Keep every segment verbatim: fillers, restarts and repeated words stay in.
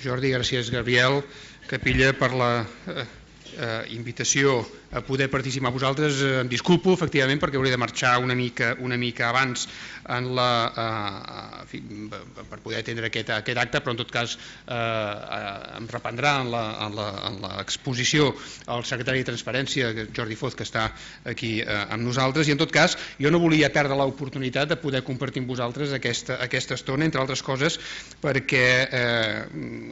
Jordi, gràcies Gabriel Capilla per la eh, eh, invitació a poder participar amb vosaltres. Eh, em disculpo, efectivament, perquè hauré de marxar una mica, una mica abans en la, eh, en fi, per poder atendre aquest, aquest acte, però en tot cas eh, eh, em reprendrà en l'exposició el secretari de Transparència, Jordi Foz, que està aquí eh, amb nosaltres, i en tot cas jo no volia perdre l'oportunitat de poder compartir amb vosaltres aquesta, aquesta estona, entre altres coses, perquè eh,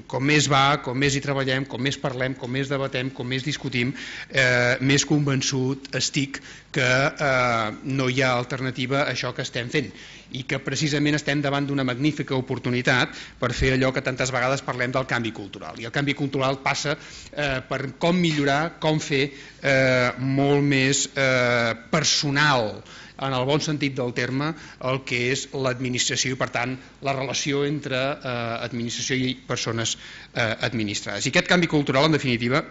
com més va, com més hi treballem, com més parlem, com més debatem, com més discutim, eh, més convençut estic que eh, no hi ha alternativa a això que estem fent i que precisament estem davant d'una magnífica oportunitat per fer allò que tantes vegades parlem del canvi cultural. I el canvi cultural passa eh, per com millorar, com fer eh, molt més eh, personal, en el bon sentit del terme, el que és l'administració i, per tant, la relació entre eh, administració i persones eh, administrades. I aquest canvi cultural, en definitiva,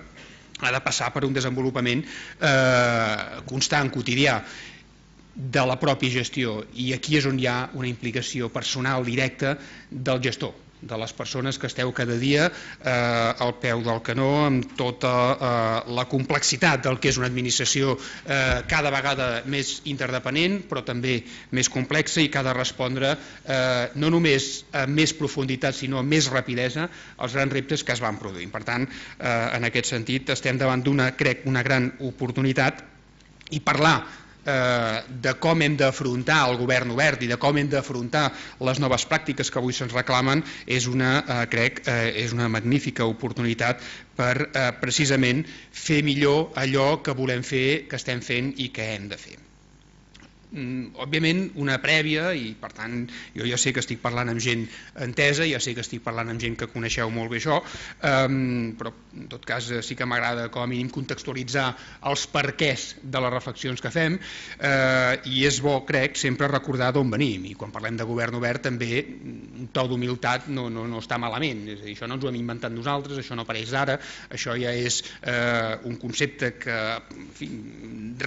ha de passar per un desenvolupament eh, constant, quotidià, de la pròpia gestió, i aquí és on hi ha una implicació personal directa del gestor, de les persones que esteu cada dia eh, al peu del canó amb tota eh, la complexitat del que és una administració eh, cada vegada més interdependent, però també més complexa i que ha de respondre eh, no només amb més profunditat sinó amb més rapidesa als grans reptes que es van produint. Per tant, eh, en aquest sentit estem davant d'una, crec, una gran oportunitat, i parlar de com hem d'afrontar el govern obert i de com hem d'afrontar les noves pràctiques que avui se'ns reclamen és una, crec, és una magnífica oportunitat per precisament fer millor allò que volem fer, que estem fent i que hem de fer. Òbviament una prèvia, i per tant jo ja sé que estic parlant amb gent entesa, ja sé que estic parlant amb gent que coneixeu molt bé això, però en tot cas sí que m'agrada com a mínim contextualitzar els perquès de les reflexions que fem, i és bo, crec, sempre recordar d'on venim, i quan parlem de govern obert també un to d'humilitat no, no, no està malament, és a dir, això no ens ho hem inventat nosaltres, això no apareix ara, això ja és eh, un concepte que en fi,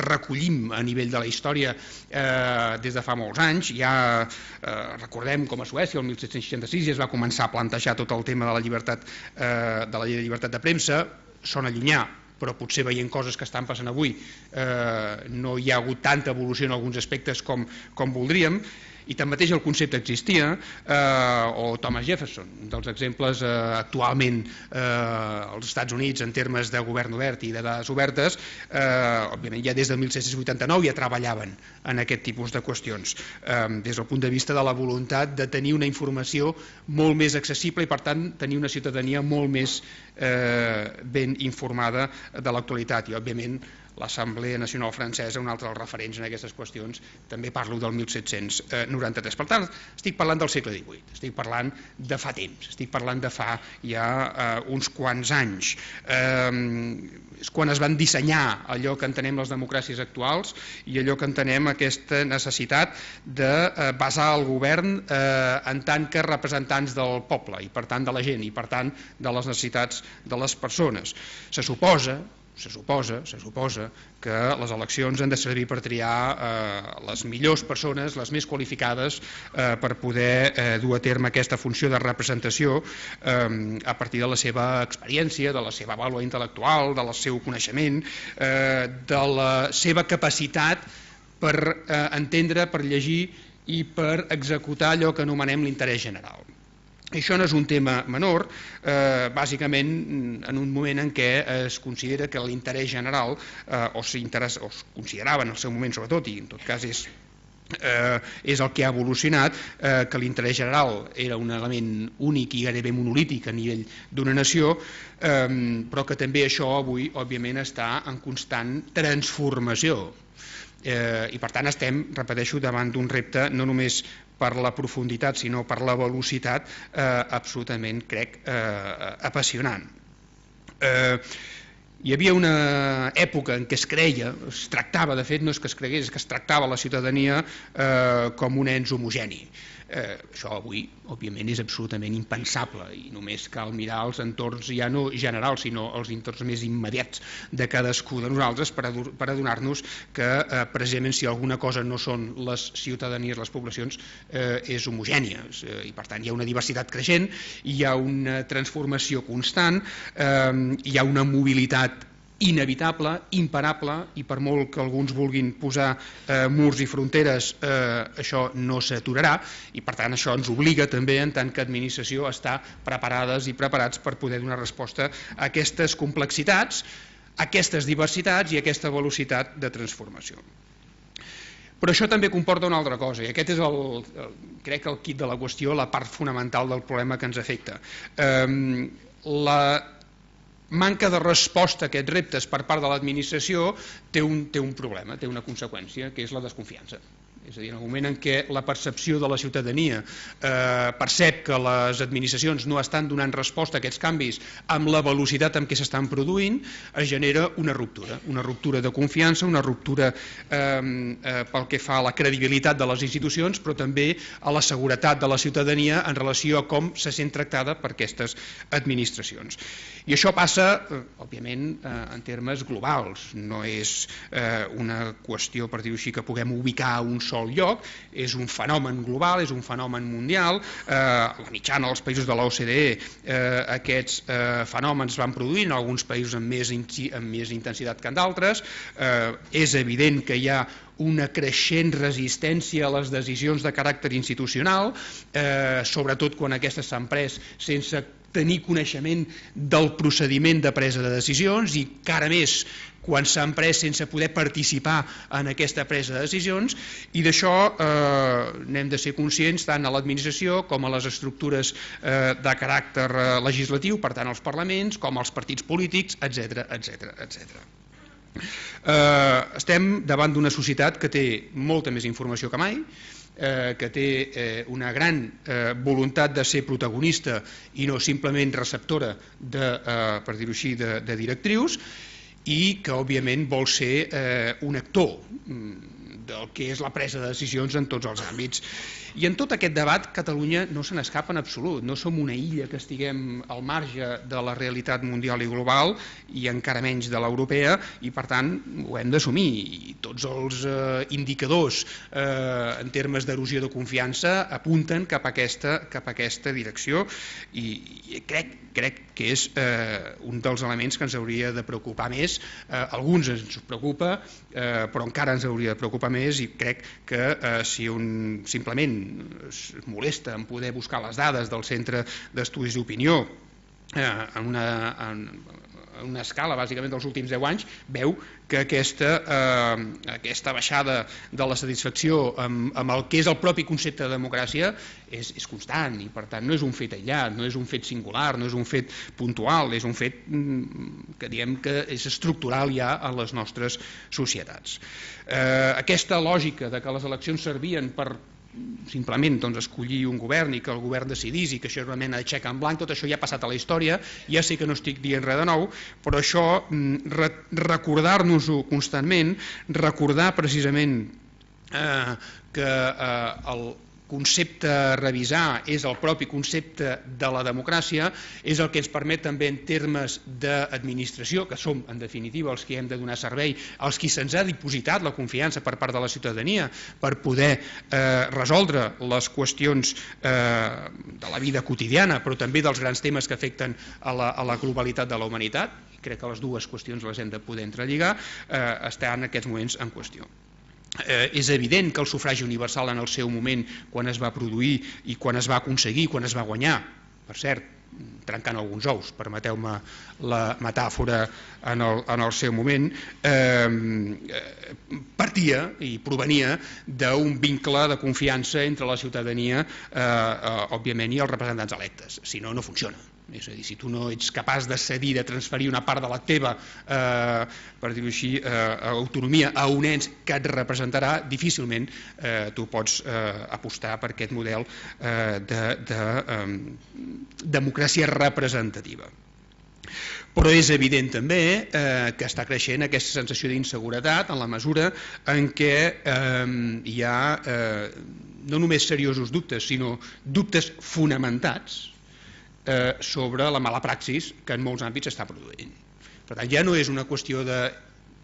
recollim a nivell de la història Eh, des de fa molts anys. Ja eh, recordem com a Suècia el mil set-cents seixanta-sis ja es va començar a plantejar tot el tema de la llibertat eh, de la llei de llibertat de premsa. Sona llunyà, però potser veient coses que estan passant avui eh, no hi ha hagut tanta evolució en alguns aspectes com, com voldríem, i tanmateix el concepte existia, eh, o Thomas Jefferson, un dels exemples eh, actualment eh, als Estats Units en termes de govern obert i de dades obertes, eh, òbviament ja des del mil set-cents vuitanta-nou ja treballaven en aquest tipus de qüestions, eh, des del punt de vista de la voluntat de tenir una informació molt més accessible i per tant tenir una ciutadania molt més eh, ben informada de l'actualitat. I òbviament l'Assemblea Nacional Francesa, un altre dels referents en aquestes qüestions, també parlo del mil set-cents noranta-tres. Per tant, estic parlant del segle divuit, estic parlant de fa temps, estic parlant de fa ja eh, uns quants anys. Eh, és quan es van dissenyar allò que entenem les democràcies actuals i allò que entenem aquesta necessitat de eh, basar el govern eh, en tant que representants del poble i per tant de la gent i per tant de les necessitats de les persones. Se suposa Se suposa, se suposa que les eleccions han de servir per triar eh, les millors persones, les més qualificades eh, per poder eh, dur a terme aquesta funció de representació eh, a partir de la seva experiència, de la seva vàlua intel·lectual, del seu coneixement, eh, de la seva capacitat per eh, entendre, per llegir i per executar allò que anomenem l'interès general. Això no és un tema menor, eh, bàsicament en un moment en què es considera que l'interès general, eh, o, o es considerava en el seu moment sobretot, i en tot cas és, eh, és el que ha evolucionat, eh, que l'interès general era un element únic i gairebé monolític a nivell d'una nació, eh, però que també això avui, òbviament, està en constant transformació. Eh, I per tant estem, repeteixo, davant d'un repte no només per la profunditat sinó per la velocitat eh, absolutament, crec, eh, apassionant. Eh, Hi havia una època en què es creia, es tractava, de fet no és que es cregués, és que es tractava la ciutadania eh, com un ens homogeni. Eh, això avui, òbviament, és absolutament impensable i només cal mirar els entorns ja no generals, sinó els entorns més immediats de cadascú de nosaltres per, per adonar-nos que eh, precisament si alguna cosa no són les ciutadanies, les poblacions, eh, és homogènia eh, i per tant hi ha una diversitat creixent, hi ha una transformació constant, eh, hi ha una mobilitat inevitable, imparable, i per molt que alguns vulguin posar eh, murs i fronteres, eh, això no s'aturarà, i per tant això ens obliga també, en tant que administració, a estar preparades i preparats per poder donar resposta a aquestes complexitats, a aquestes diversitats i a aquesta velocitat de transformació. Però això també comporta una altra cosa, i aquest és el, el, crec el quid de la qüestió, la part fonamental del problema que ens afecta. Eh, la manca de resposta a aquests reptes per part de l'administració té un, té un problema, té una conseqüència, que és la desconfiança. És a dir, en el moment en què la percepció de la ciutadania eh, percep que les administracions no estan donant resposta a aquests canvis amb la velocitat amb què s'estan produint, es genera una ruptura, una ruptura de confiança, una ruptura eh, eh, pel que fa a la credibilitat de les institucions, però també a la seguretat de la ciutadania en relació a com se sent tractada per aquestes administracions. I això passa, eh, òbviament, eh, en termes globals, no és eh, una qüestió, per dir-ho així, que puguem ubicar un sol lloc, és un fenomen global, és un fenomen mundial, eh, la mitjana dels països de l'O C D E eh, aquests eh, fenòmens van produint, en alguns països amb més, amb més intensitat que en d'altres, eh, és evident que hi ha una creixent resistència a les decisions de caràcter institucional, eh, sobretot quan aquestes s'han pres sense tenir coneixement del procediment de presa de decisions i encara més quan s'han pres sense poder participar en aquesta presa de decisions, i d'això eh, n'hem de ser conscients tant a l'administració com a les estructures eh, de caràcter eh, legislatiu, per tant als parlaments, com als partits polítics, etcètera, etcètera, etcètera. Eh, estem davant d'una societat que té molta més informació que mai, eh, que té eh, una gran eh, voluntat de ser protagonista i no simplement receptora de, eh, per dir-ho així, de, de directrius, i que òbviament vol ser eh, un actor del que és la presa de decisions en tots els àmbits. I en tot aquest debat Catalunya no se n'escapa en absolut, no som una illa que estiguem al marge de la realitat mundial i global i encara menys de l'europea, i per tant ho hem d'assumir, i tots els eh, indicadors eh, en termes d'erosió de confiança apunten cap a aquesta, cap a aquesta direcció, i, i crec, crec que és eh, un dels elements que ens hauria de preocupar més. Eh, alguns ens preocupa, eh, però encara ens hauria de preocupar més, i crec que eh, si un simplement es molesta en poder buscar les dades del Centre d'Estudis d'Opinió eh, en, una, en una escala bàsicament dels últims deu anys, veu que aquesta, eh, aquesta baixada de la satisfacció amb, amb el que és el propi concepte de democràcia és, és constant, i per tant no és un fet aïllat, no és un fet singular, no és un fet puntual, és un fet que diem que és estructural ja a les nostres societats. Eh, aquesta lògica de que les eleccions servien per simplement doncs, escollir un govern i que el govern decidís i que això és una mena de xec en blanc, tot això ja ha passat a la història, ja sé que no estic dient res de nou, però això, re recordar-nos-ho constantment, recordar precisament eh, que eh, el concepte a revisar és el propi concepte de la democràcia, és el que ens permet també en termes d'administració, que som en definitiva els que hem de donar servei, als qui se'ns ha dipositat la confiança per part de la ciutadania per poder eh, resoldre les qüestions eh, de la vida quotidiana, però també dels grans temes que afecten a la, a la globalitat de la humanitat. Crec que les dues qüestions les hem de poder entrelligar, eh, està en aquests moments en qüestió. Eh, és evident que el sufragi universal en el seu moment, quan es va produir i quan es va aconseguir, quan es va guanyar, per cert, trencant alguns ous, permeteu-me la metàfora en el, en el seu moment, eh, partia i provenia d'un vincle de confiança entre la ciutadania, eh, eh, òbviament, i els representants electes. Si no, no funciona. És a dir, si tu no ets capaç de cedir, de transferir una part de la teva, eh, per dir-ho així, eh, autonomia a un ens que et representarà, difícilment eh, tu pots eh, apostar per aquest model eh, de, de eh, democràcia representativa. Però és evident també eh, que està creixent aquesta sensació d'inseguretat en la mesura en què eh, hi ha eh, no només seriosos dubtes, sinó dubtes fonamentats eh, sobre la mala praxis que en molts àmbits s'està produint. Per tant, ja no és una qüestió de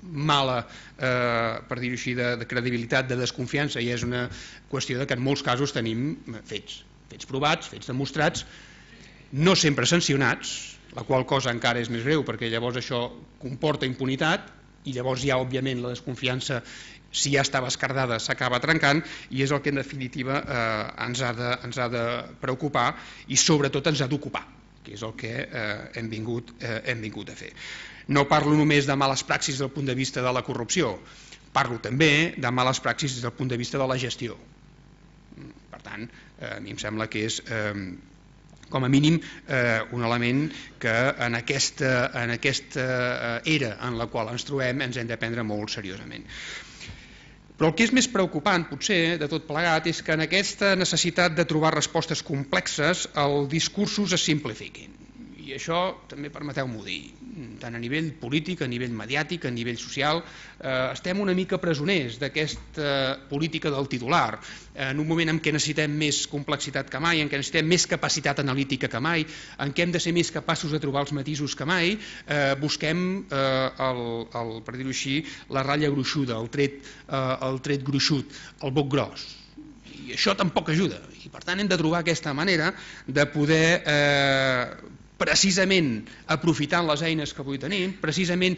mala, eh, per dir-ho així, de, de credibilitat, de desconfiança, ja és una qüestió de que en molts casos tenim fets, fets provats, fets demostrats, no sempre sancionats, la qual cosa encara és més greu perquè llavors això comporta impunitat i llavors ja òbviament la desconfiança, si ja estava escardada, s'acaba trencant i és el que en definitiva eh, ens, ha de, ens ha de preocupar i sobretot ens ha d'ocupar, que és el que eh, hem, vingut, eh, hem vingut a fer. No parlo només de males praxis des del punt de vista de la corrupció, parlo també de males praxis des del punt de vista de la gestió. Per tant, eh, a mi em sembla que és eh, com a mínim eh, un element que en aquesta, en aquesta era en la qual ens trobem ens hem de prendre molt seriosament. Però el que és més preocupant, potser, de tot plegat, és que en aquesta necessitat de trobar respostes complexes els discursos es simplifiquin. I això també permeteu-m'ho dir, tant a nivell polític, a nivell mediàtic, a nivell social, eh, estem una mica presoners d'aquesta política del titular, en un moment en què necessitem més complexitat que mai, en què necessitem més capacitat analítica que mai, en què hem de ser més capaços de trobar els matisos que mai, eh, busquem, eh, el, el, per dir-ho així, la ratlla gruixuda, el tret, eh, el tret gruixut, el boc gros. I això tampoc ajuda, i per tant hem de trobar aquesta manera de poder eh, precisament aprofitant les eines que avui tenim, precisament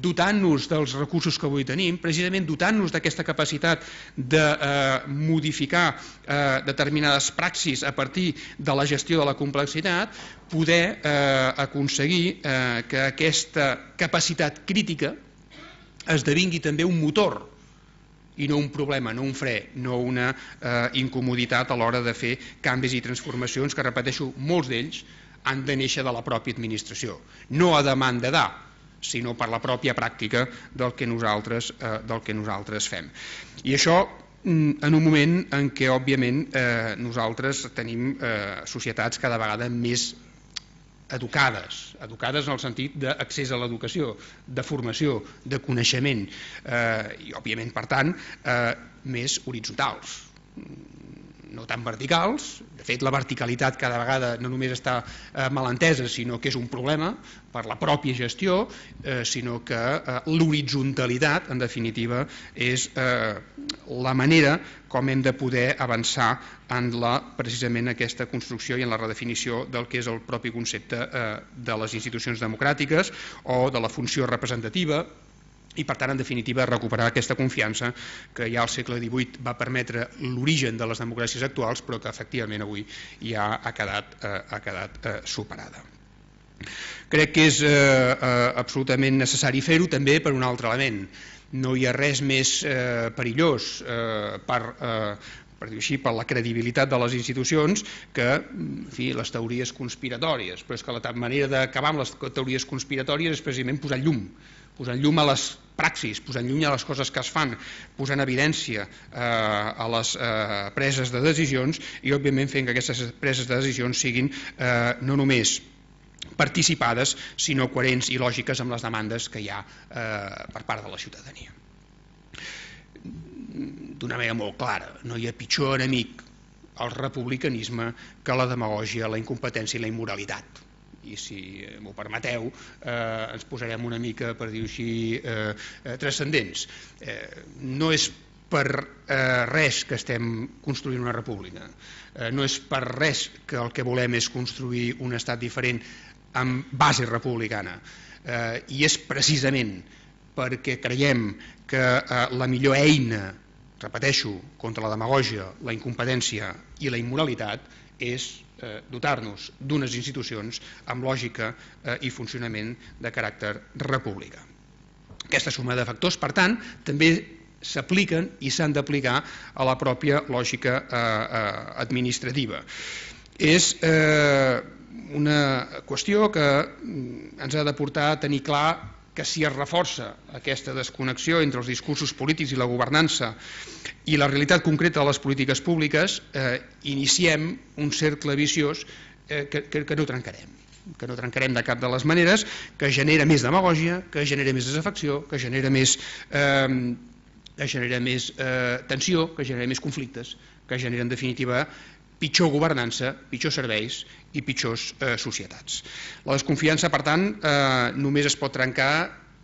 dotant-nos dels recursos que avui tenim, precisament dotant-nos d'aquesta capacitat de eh, modificar eh, determinades praxis a partir de la gestió de la complexitat, poder eh, aconseguir eh, que aquesta capacitat crítica esdevingui també un motor i no un problema, no un fre, no una eh, incomoditat a l'hora de fer canvis i transformacions que, repeteixo, molts d'ells han de néixer de la pròpia administració, no a demanda de, sinó per la pròpia pràctica del que nosaltres, eh, del que nosaltres fem. I això en un moment en què, òbviament, eh, nosaltres tenim eh, societats cada vegada més educades, educades en el sentit d'accés a l'educació, de formació, de coneixement, eh, i, òbviament, per tant, eh, més horitzontals, no tan verticals. De fet, la verticalitat cada vegada no només està eh, mal entesa, sinó que és un problema per la pròpia gestió, eh, sinó que eh, l'horitzontalitat, en definitiva, és eh, la manera com hem de poder avançar en la, precisament aquesta construcció i en la redefinició del que és el propi concepte eh, de les institucions democràtiques o de la funció representativa, i per tant, en definitiva, recuperar aquesta confiança que ja al segle divuit va permetre l'origen de les democràcies actuals, però que efectivament avui ja ha quedat, eh, ha quedat eh, superada. Crec que és eh, eh, absolutament necessari fer-ho també per un altre element. No hi ha res més eh, perillós eh, per... Eh, per dir així, per la credibilitat de les institucions que, en fi, les teories conspiratòries, però és que la manera d'acabar amb les teories conspiratòries és precisament posar llum, posar llum a les praxis, posar llum a les coses que es fan, posar en evidència eh, a les eh, preses de decisions i, òbviament, fent que aquestes preses de decisions siguin eh, no només participades, sinó coherents i lògiques amb les demandes que hi ha eh, per part de la ciutadania. D'una manera molt clara, no hi ha pitjor enemic al republicanisme que la demagògia, la incompetència i la immoralitat. I si m'ho permeteu, eh, ens posarem una mica, per dir-ho així, eh, eh, transcendents. Eh, no és per eh, res que estem construint una república, eh, no és per res que el que volem és construir un estat diferent amb base republicana, eh, i és precisament perquè creiem que eh, la millor eina, repeteixo, contra la demagògia, la incompetència i la immoralitat és eh, dotar-nos d'unes institucions amb lògica eh, i funcionament de caràcter republicà. Aquesta suma de factors, per tant, també s'apliquen i s'han d'aplicar a la pròpia lògica eh, eh, administrativa. És eh, una qüestió que ens ha de portar a tenir clar que si es reforça aquesta desconnexió entre els discursos polítics i la governança i la realitat concreta de les polítiques públiques, eh, iniciem un cercle viciós eh, que, que, que no trencarem. que no trencarem de cap de les maneres, que genera més demagògia, que genera més desafecció, que genera més, eh, que genera més eh, tensió, que genera més conflictes, que genera en definitiva pitjor governança, pitjors serveis i pitjors eh, societats. La desconfiança, per tant, eh, només es pot trencar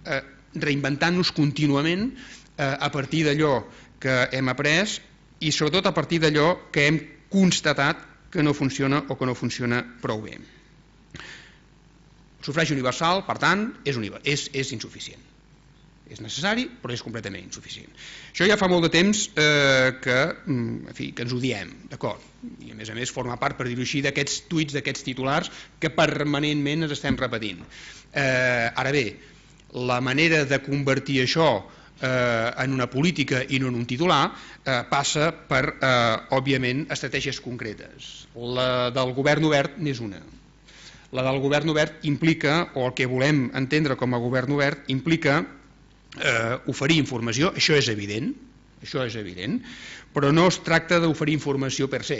eh, reinventant-nos contínuament eh, a partir d'allò que hem après i sobretot a partir d'allò que hem constatat que no funciona o que no funciona prou bé. El sufragi universal, per tant, és, és, és insuficient. És necessari, però és completament insuficient. Això ja fa molt de temps eh, que, en fi, que ens ho diem, d'acord? I a més a més forma part, per dir-ho així, d'aquests tuits, d'aquests titulars que permanentment ens estem repetint. Eh, ara bé, la manera de convertir això eh, en una política i no en un titular eh, passa per, eh, òbviament, estratègies concretes. La del govern obert n'és una. La del govern obert implica, o el que volem entendre com a govern obert, implica Eh, oferir informació, això és evident, això és evident, però no es tracta d'oferir informació per se.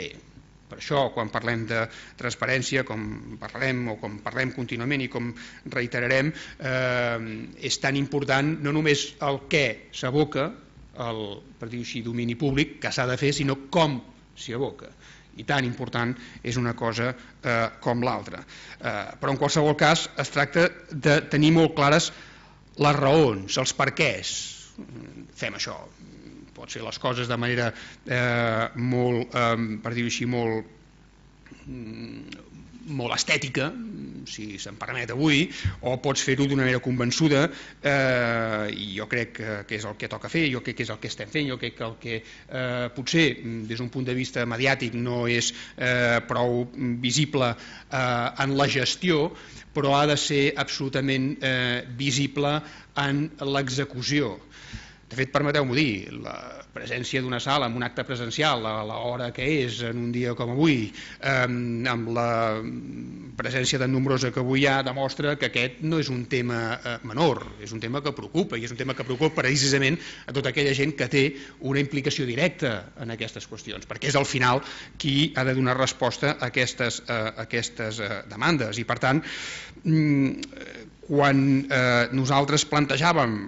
Per això, quan parlem de transparència, com parlem o com parlem contínuament i com reiterarem, eh, és tan important no només el què s'aboca, el, per dir-ho així, domini públic, que s'ha de fer, sinó com s'hi aboca. I tan important és una cosa eh, com l'altra. Eh, però en qualsevol cas es tracta de tenir molt clares les raons, els perquès. Fem això. Pot ser les coses de manera eh, molt, eh, per dir-ho així, molt, molt estètica, si se'n permet avui, o pots fer-ho d'una manera convençuda, eh, i jo crec que, que és el que toca fer, jo crec que és el que estem fent, jo crec que el que eh, potser des d'un punt de vista mediàtic no és eh, prou visible eh, en la gestió, però ha de ser absolutament eh, visible en l'execució. De fet, permeteu-m'ho dir, la presència d'una sala en un acte presencial a l'hora que és, en un dia com avui, eh, amb la presència tan nombrosa que avui hi ha, demostra que aquest no és un tema eh, menor, és un tema que preocupa, i és un tema que preocupa precisament a tota aquella gent que té una implicació directa en aquestes qüestions, perquè és al final qui ha de donar resposta a aquestes, eh, a aquestes eh, demandes. I per tant, quan eh, nosaltres plantejàvem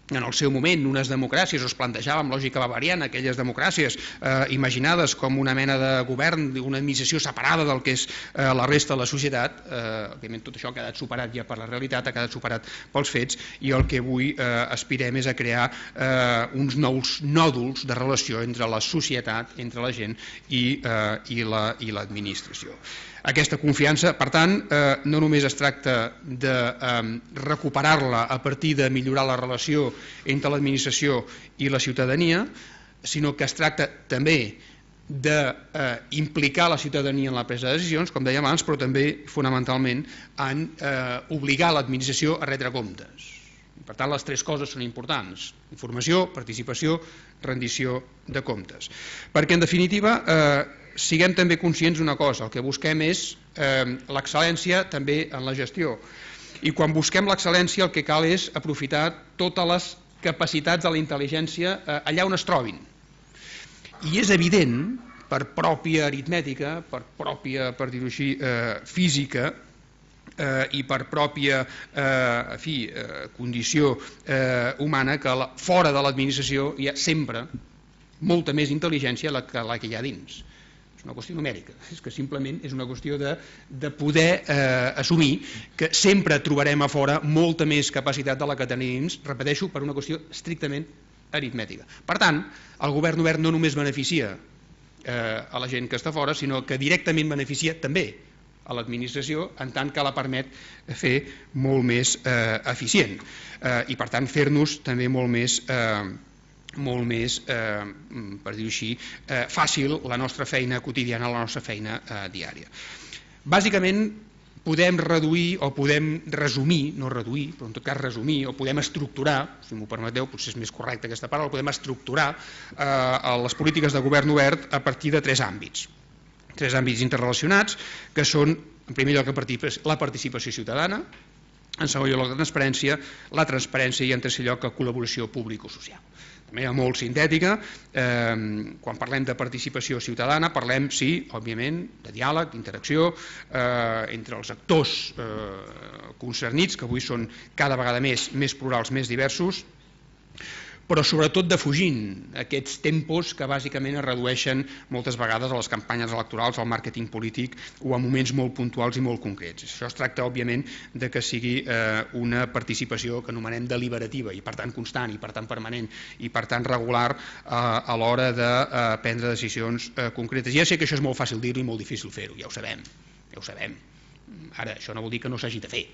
en el seu moment unes democràcies, o es plantejàvem lògica bavariana, aquelles democràcies eh, imaginades com una mena de govern, una administració separada del que és eh, la resta de la societat, eh, òbviament tot això ha quedat superat ja per la realitat, ha quedat superat pels fets, i el que avui eh, aspirem és a crear eh, uns nous nòduls de relació entre la societat, entre la gent i, eh, i l'administració. Aquesta confiança, per tant, eh, no només es tracta de eh, recuperar-la a partir de millorar la relació entre l'administració i la ciutadania, sinó que es tracta també d'implicar la ciutadania en la presa de decisions, com dèiem abans, però també fonamentalment en eh, obligar l'administració a retre comptes. Per tant, les tres coses són importants: informació, participació, rendició de comptes. Perquè, en definitiva, eh, siguem també conscients d'una cosa, el que busquem és eh, l'excel·lència també en la gestió. I quan busquem l'excel·lència el que cal és aprofitar totes les capacitats de la intel·ligència eh, allà on es trobin. I és evident, per pròpia aritmètica, per pròpia, per dir-ho així, eh, física, eh, i per pròpia eh, en fi, eh, condició eh, humana, que la, fora de l'administració hi ha sempre molta més intel·ligència la que, la que hi ha dins. És una qüestió numèrica, és que simplement és una qüestió de, de poder eh, assumir que sempre trobarem a fora molta més capacitat de la que tenim, repeteixo, per una qüestió estrictament aritmètica. Per tant, el govern obert no només beneficia eh, a la gent que està fora, sinó que directament beneficia també a l'administració, en tant que la permet fer molt més eh, eficient eh, i per tant fer-nos també molt més eh, molt més, eh, per dir-ho així, eh, fàcil la nostra feina quotidiana, la nostra feina eh, diària. Bàsicament podem reduir o podem resumir, no reduir, però en tot cas resumir, o podem estructurar, si m'ho permeteu, potser és més correcta aquesta paraula, podem estructurar eh, les polítiques de govern obert a partir de tres àmbits. Tres àmbits interrelacionats, que són, en primer lloc, la participació ciutadana, en segon lloc, la transparència, la transparència i, en tercer lloc, la col·laboració público-social. de manera molt sintètica, eh, quan parlem de participació ciutadana parlem, sí, òbviament, de diàleg, d'interacció eh, entre els actors eh, concernits, que avui són cada vegada més, més plurals, més diversos, però sobretot defugint aquests tempos que bàsicament es redueixen moltes vegades a les campanyes electorals, al màrqueting polític o a moments molt puntuals i molt concrets. Això es tracta, òbviament, de que sigui eh, una participació que anomenem deliberativa i per tant constant i per tant permanent i per tant regular eh, a l'hora de eh, prendre decisions eh, concretes. Ja sé que això és molt fàcil dir-ho i molt difícil fer-ho, ja ho sabem, ja ho sabem. Ara, això no vol dir que no s'hagi de fer.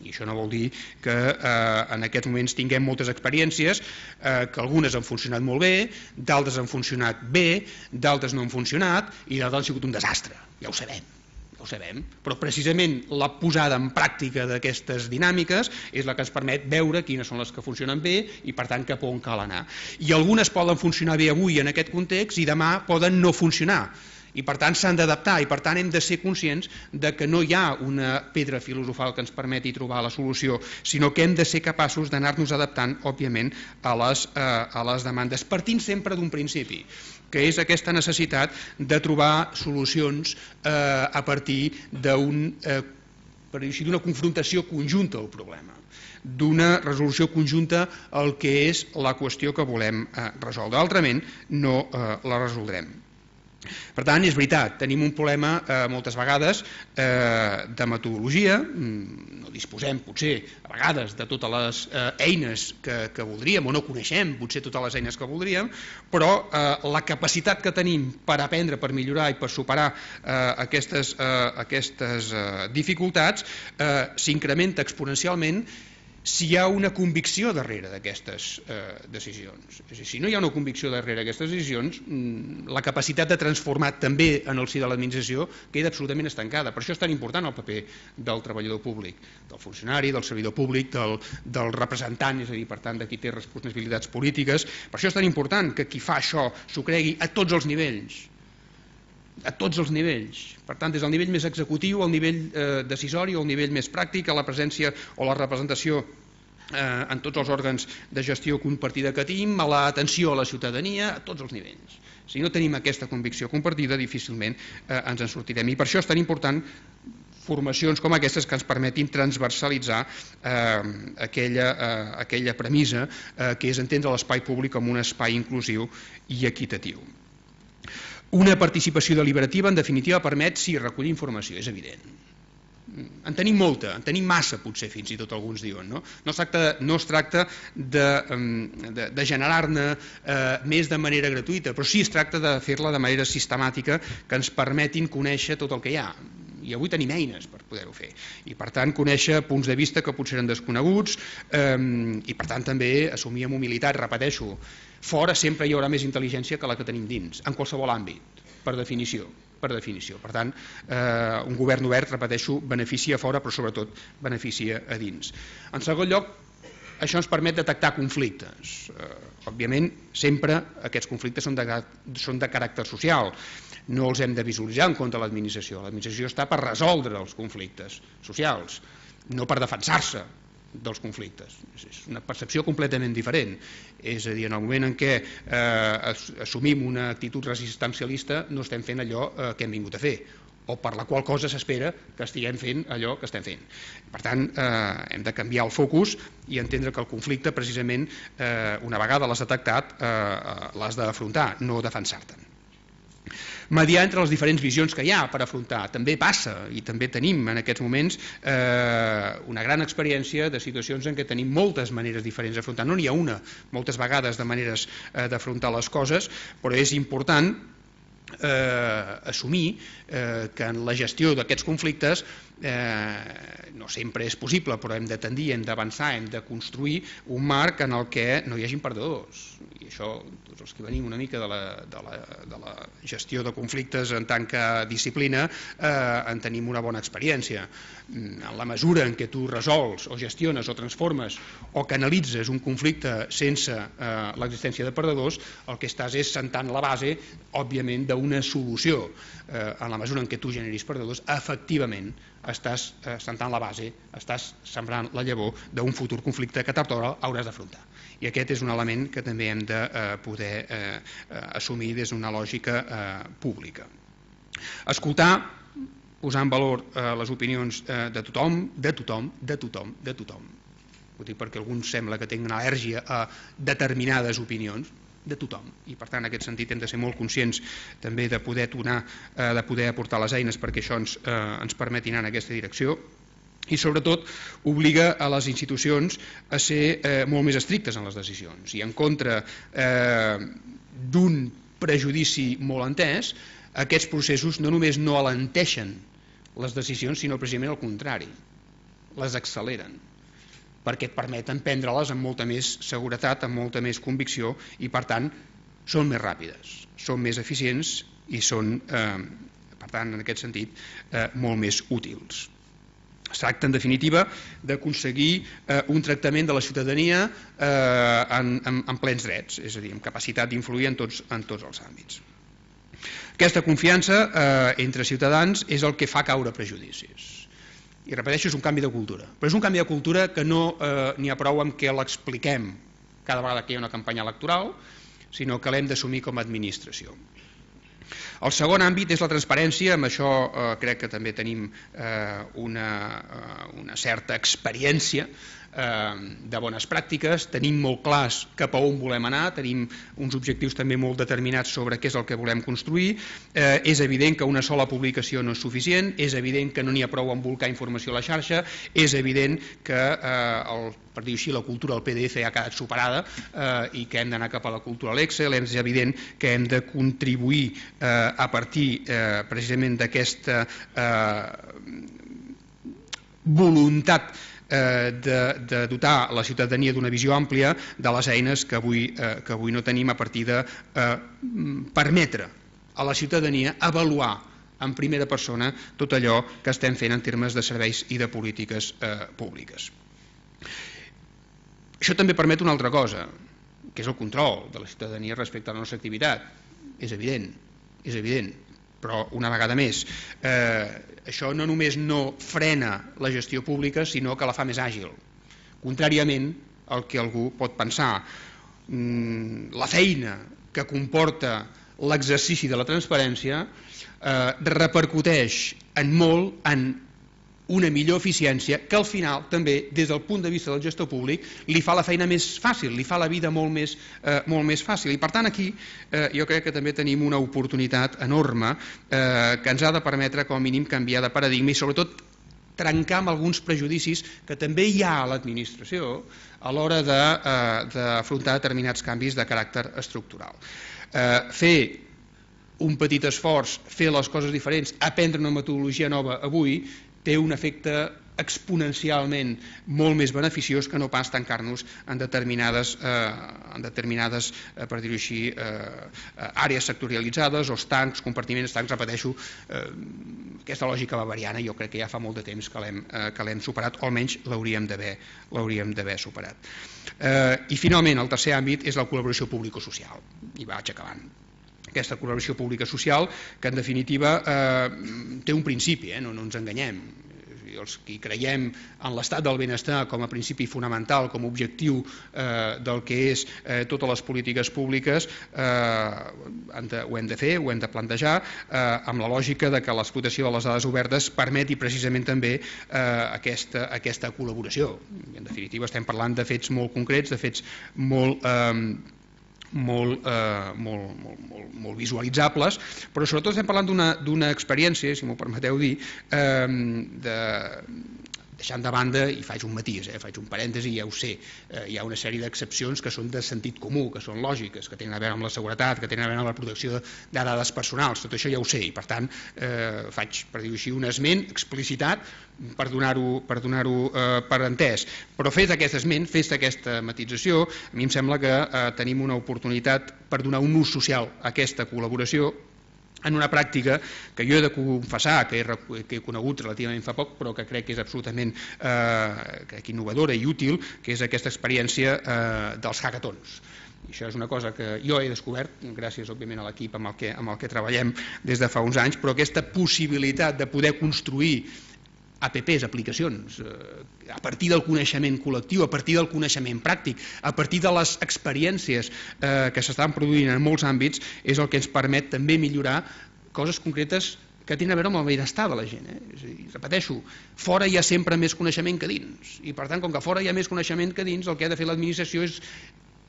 I això no vol dir que eh, en aquests moments tinguem moltes experiències, eh, que algunes han funcionat molt bé, d'altres han funcionat bé, d'altres no han funcionat i d'altres han sigut un desastre, ja ho sabem. Ja ho sabem, però precisament la posada en pràctica d'aquestes dinàmiques és la que ens permet veure quines són les que funcionen bé i per tant cap on cal anar. I algunes poden funcionar bé avui en aquest context i demà poden no funcionar. I per tant s'han d'adaptar i per tant hem de ser conscients de que no hi ha una pedra filosofal que ens permeti trobar la solució, sinó que hem de ser capaços d'anar-nos adaptant, òbviament, a les, eh, a les demandes, partint sempre d'un principi, que és aquesta necessitat de trobar solucions eh, a partir d'un, eh, per dir així, d'una confrontació conjunta al problema, d'una resolució conjunta al que és la qüestió que volem eh, resoldre. Altrament no eh, la resoldrem. Per tant, és veritat, tenim un problema eh, moltes vegades eh, de metodologia, no disposem potser a vegades de totes les eh, eines que, que voldríem o no coneixem potser totes les eines que voldríem, però eh, la capacitat que tenim per aprendre, per millorar i per superar eh, aquestes, eh, aquestes eh, dificultats eh, s'incrementa exponencialment si hi ha una convicció darrere d'aquestes eh, decisions. És a dir, si no hi ha una convicció darrere d'aquestes decisions, la capacitat de transformar també en el si de l'administració queda absolutament estancada. Per això és tan important el paper del treballador públic, del funcionari, del servidor públic, del, del representant, és a dir, per tant, de qui té responsabilitats polítiques. Per això és tan important que qui fa això s'ho cregui a tots els nivells, a tots els nivells. Per tant, des del nivell més executiu, al nivell eh, decisori, al nivell més pràctic, a la presència o la representació eh, en tots els òrgans de gestió compartida que tenim, a l'atenció a la ciutadania, a tots els nivells. Si no tenim aquesta convicció compartida, difícilment eh, ens en sortirem. I per això és tan important formacions com aquestes que ens permetin transversalitzar eh, aquella, eh, aquella premissa eh, que és entendre l'espai públic com un espai inclusiu i equitatiu. Una participació deliberativa, en definitiva, permet, sí, recollir informació, és evident. En tenim molta, en tenim massa, potser, fins i tot alguns diuen. No, no es tracta, no es tracta de, de, de generar-ne eh, més de manera gratuïta, però sí es tracta de fer-la de manera sistemàtica que ens permetin conèixer tot el que hi ha. I avui tenim eines per poder-ho fer. I, per tant, conèixer punts de vista que potser eren desconeguts eh, i, per tant, també assumir amb humilitat, repeteixo, fora sempre hi haurà més intel·ligència que la que tenim dins, en qualsevol àmbit, per definició. Per definició. Per tant, eh, un govern obert, repeteixo, beneficia fora, però sobretot beneficia a dins. En segon lloc, això ens permet detectar conflictes. Eh, òbviament, sempre aquests conflictes són de, són de caràcter social. No els hem de visualitzar en contra de l'administració. L'administració està per resoldre els conflictes socials, no per defensar-se dels conflictes. És una percepció completament diferent. És a dir, en el moment en què eh, assumim una actitud resistencialista no estem fent allò eh, que hem vingut a fer, o per la qual cosa s'espera que estiguem fent allò que estem fent. Per tant, eh, hem de canviar el focus i entendre que el conflicte, precisament, eh, una vegada l'has detectat, eh, l'has d'afrontar, no defensar-te'n. Mediar entre les diferents visions que hi ha per afrontar. També passa, i també tenim en aquests moments eh, una gran experiència de situacions en què tenim moltes maneres diferents d'afrontar. No n'hi ha una, moltes vegades, de maneres eh, d'afrontar les coses, però és important eh, assumir eh, que en la gestió d'aquests conflictes eh, no sempre és possible, però hem de tendir, hem d'avançar, hem de construir un marc en el que no hi hagin perdedors. I això, tots els que venim una mica de la, de la, de la gestió de conflictes en tant que disciplina, eh, en tenim una bona experiència. En la mesura en què tu resols o gestiones o transformes o canalitzes un conflicte sense eh, l'existència de perdedors, el que estàs és sentant la base, òbviament, d'una solució. Eh, en la mesura en què tu generis perdedors, efectivament estàs sentant la base, estàs sembrant la llavor d'un futur conflicte que tard o d'hora hauràs d'afrontar. I aquest és un element que també hem de poder assumir des d'una lògica pública. Escoltar, posar en valor les opinions de tothom, de tothom, de tothom, de tothom. Ho dic perquè alguns sembla que tenen una al·lèrgia a determinades opinions, de tothom, i per tant en aquest sentit hem de ser molt conscients també de poder donar, de poder aportar les eines perquè això ens, eh, ens permeti anar en aquesta direcció, i sobretot obliga a les institucions a ser eh, molt més estrictes en les decisions i en contra eh, d'un prejudici molt entès. Aquests processos no només no alenteixen les decisions, sinó precisament al contrari, les acceleren, perquè et permeten prendre-les amb molta més seguretat, amb molta més convicció, i per tant són més ràpides, són més eficients i són, eh, per tant, en aquest sentit, eh, molt més útils. Es tracta, en definitiva, d'aconseguir eh, un tractament de la ciutadania eh, en, en, en plens drets, és a dir, amb capacitat d'influir en tots, en tots els àmbits. Aquesta confiança eh, entre ciutadans és el que fa caure prejudicis. I repeteixo, és un canvi de cultura, però és un canvi de cultura que no eh, n'hi ha prou amb que l'expliquem cada vegada que hi ha una campanya electoral, sinó que l'hem d'assumir com a administració. El segon àmbit és la transparència. Amb això eh, crec que també tenim eh, una, eh, una certa experiència eh, de bones pràctiques, tenim molt clars cap a on volem anar, tenim uns objectius també molt determinats sobre què és el que volem construir. Eh, és evident que una sola publicació no és suficient, és evident que no n'hi ha prou amb volcar informació a la xarxa, és evident que eh, el per dir-ho així, la cultura del P D F ja ha quedat superada eh, i que hem d'anar cap a la cultura de l'Excel. És evident que hem de contribuir eh, a partir eh, precisament d'aquesta eh, voluntat eh, de, de dotar la ciutadania d'una visió àmplia de les eines que avui, eh, que avui no tenim, a partir de eh, permetre a la ciutadania avaluar en primera persona tot allò que estem fent en termes de serveis i de polítiques eh, públiques. Això també permet una altra cosa, que és el control de la ciutadania respecte a la nostra activitat. És evident, és evident, però una vegada més, eh, això no només no frena la gestió pública, sinó que la fa més àgil. Contràriament al que algú pot pensar, la feina que comporta l'exercici de la transparència eh, repercuteix en molt en una millor eficiència que al final també des del punt de vista del gestor públic li fa la feina més fàcil, li fa la vida molt més, eh, molt més fàcil, i per tant aquí eh, jo crec que també tenim una oportunitat enorme eh, que ens ha de permetre com a mínim canviar de paradigma i sobretot trencar amb alguns prejudicis que també hi ha a l'administració a l'hora d'afrontar de, eh, determinats canvis de caràcter estructural. Eh, fer un petit esforç, fer les coses diferents, aprendre una metodologia nova avui té un efecte exponencialment molt més beneficiós que no pas tancar-nos en determinades, eh, en determinades eh, per dir-ho així, eh, àrees sectorialitzades o estancs, compartiments, estancs, repeteixo, eh, aquesta lògica bavariana jo crec que ja fa molt de temps que l'hem eh, que l'hem superat, o almenys l'hauríem d'haver l'hauríem d'haver superat. Eh, I finalment, el tercer àmbit és la col·laboració público-social, i vaig acabant. Aquesta col·laboració pública social que en definitiva eh, té un principi, eh, no, no ens enganyem. Els que creiem en l'estat del benestar com a principi fonamental, com a objectiu eh, del que és eh, totes les polítiques públiques, eh, de, ho hem de fer, ho hem de plantejar, eh, amb la lògica de que l'explotació de les dades obertes permeti precisament també eh, aquesta, aquesta col·laboració. En definitiva estem parlant de fets molt concrets, de fets molt... Eh, Molt, eh, molt, molt, molt, molt visualitzables, però sobretot estem parlant d'una experiència, si m'ho permeteu dir, eh, de, deixant de banda, i faig un matís, eh, faig un parèntesi, ja ho sé, eh, hi ha una sèrie d'excepcions que són de sentit comú, que són lògiques, que tenen a veure amb la seguretat, que tenen a veure amb la protecció de, de dades personals, tot això ja ho sé, i per tant eh, faig, per dir-ho així, un esment explicitat per donar-ho per, donar eh, per entès. Però fet aquest esment, fet aquesta matització, a mi em sembla que eh, tenim una oportunitat per donar un ús social a aquesta col·laboració en una pràctica que jo he de confessar que he, que he conegut relativament fa poc, però que crec que és absolutament eh, crec, innovadora i útil, que és aquesta experiència eh, dels hackathons. I això és una cosa que jo he descobert, gràcies òbviament a l'equip amb, el que, amb el que treballem des de fa uns anys, però aquesta possibilitat de poder construir A P Ps, aplicacions, a partir del coneixement col·lectiu, a partir del coneixement pràctic, a partir de les experiències que s'estan produint en molts àmbits, és el que ens permet també millorar coses concretes que tenen a veure amb el benestar de la gent. Eh? És a dir, repeteixo, fora hi ha sempre més coneixement que dins, i per tant, com que fora hi ha més coneixement que dins, el que ha de fer l'administració és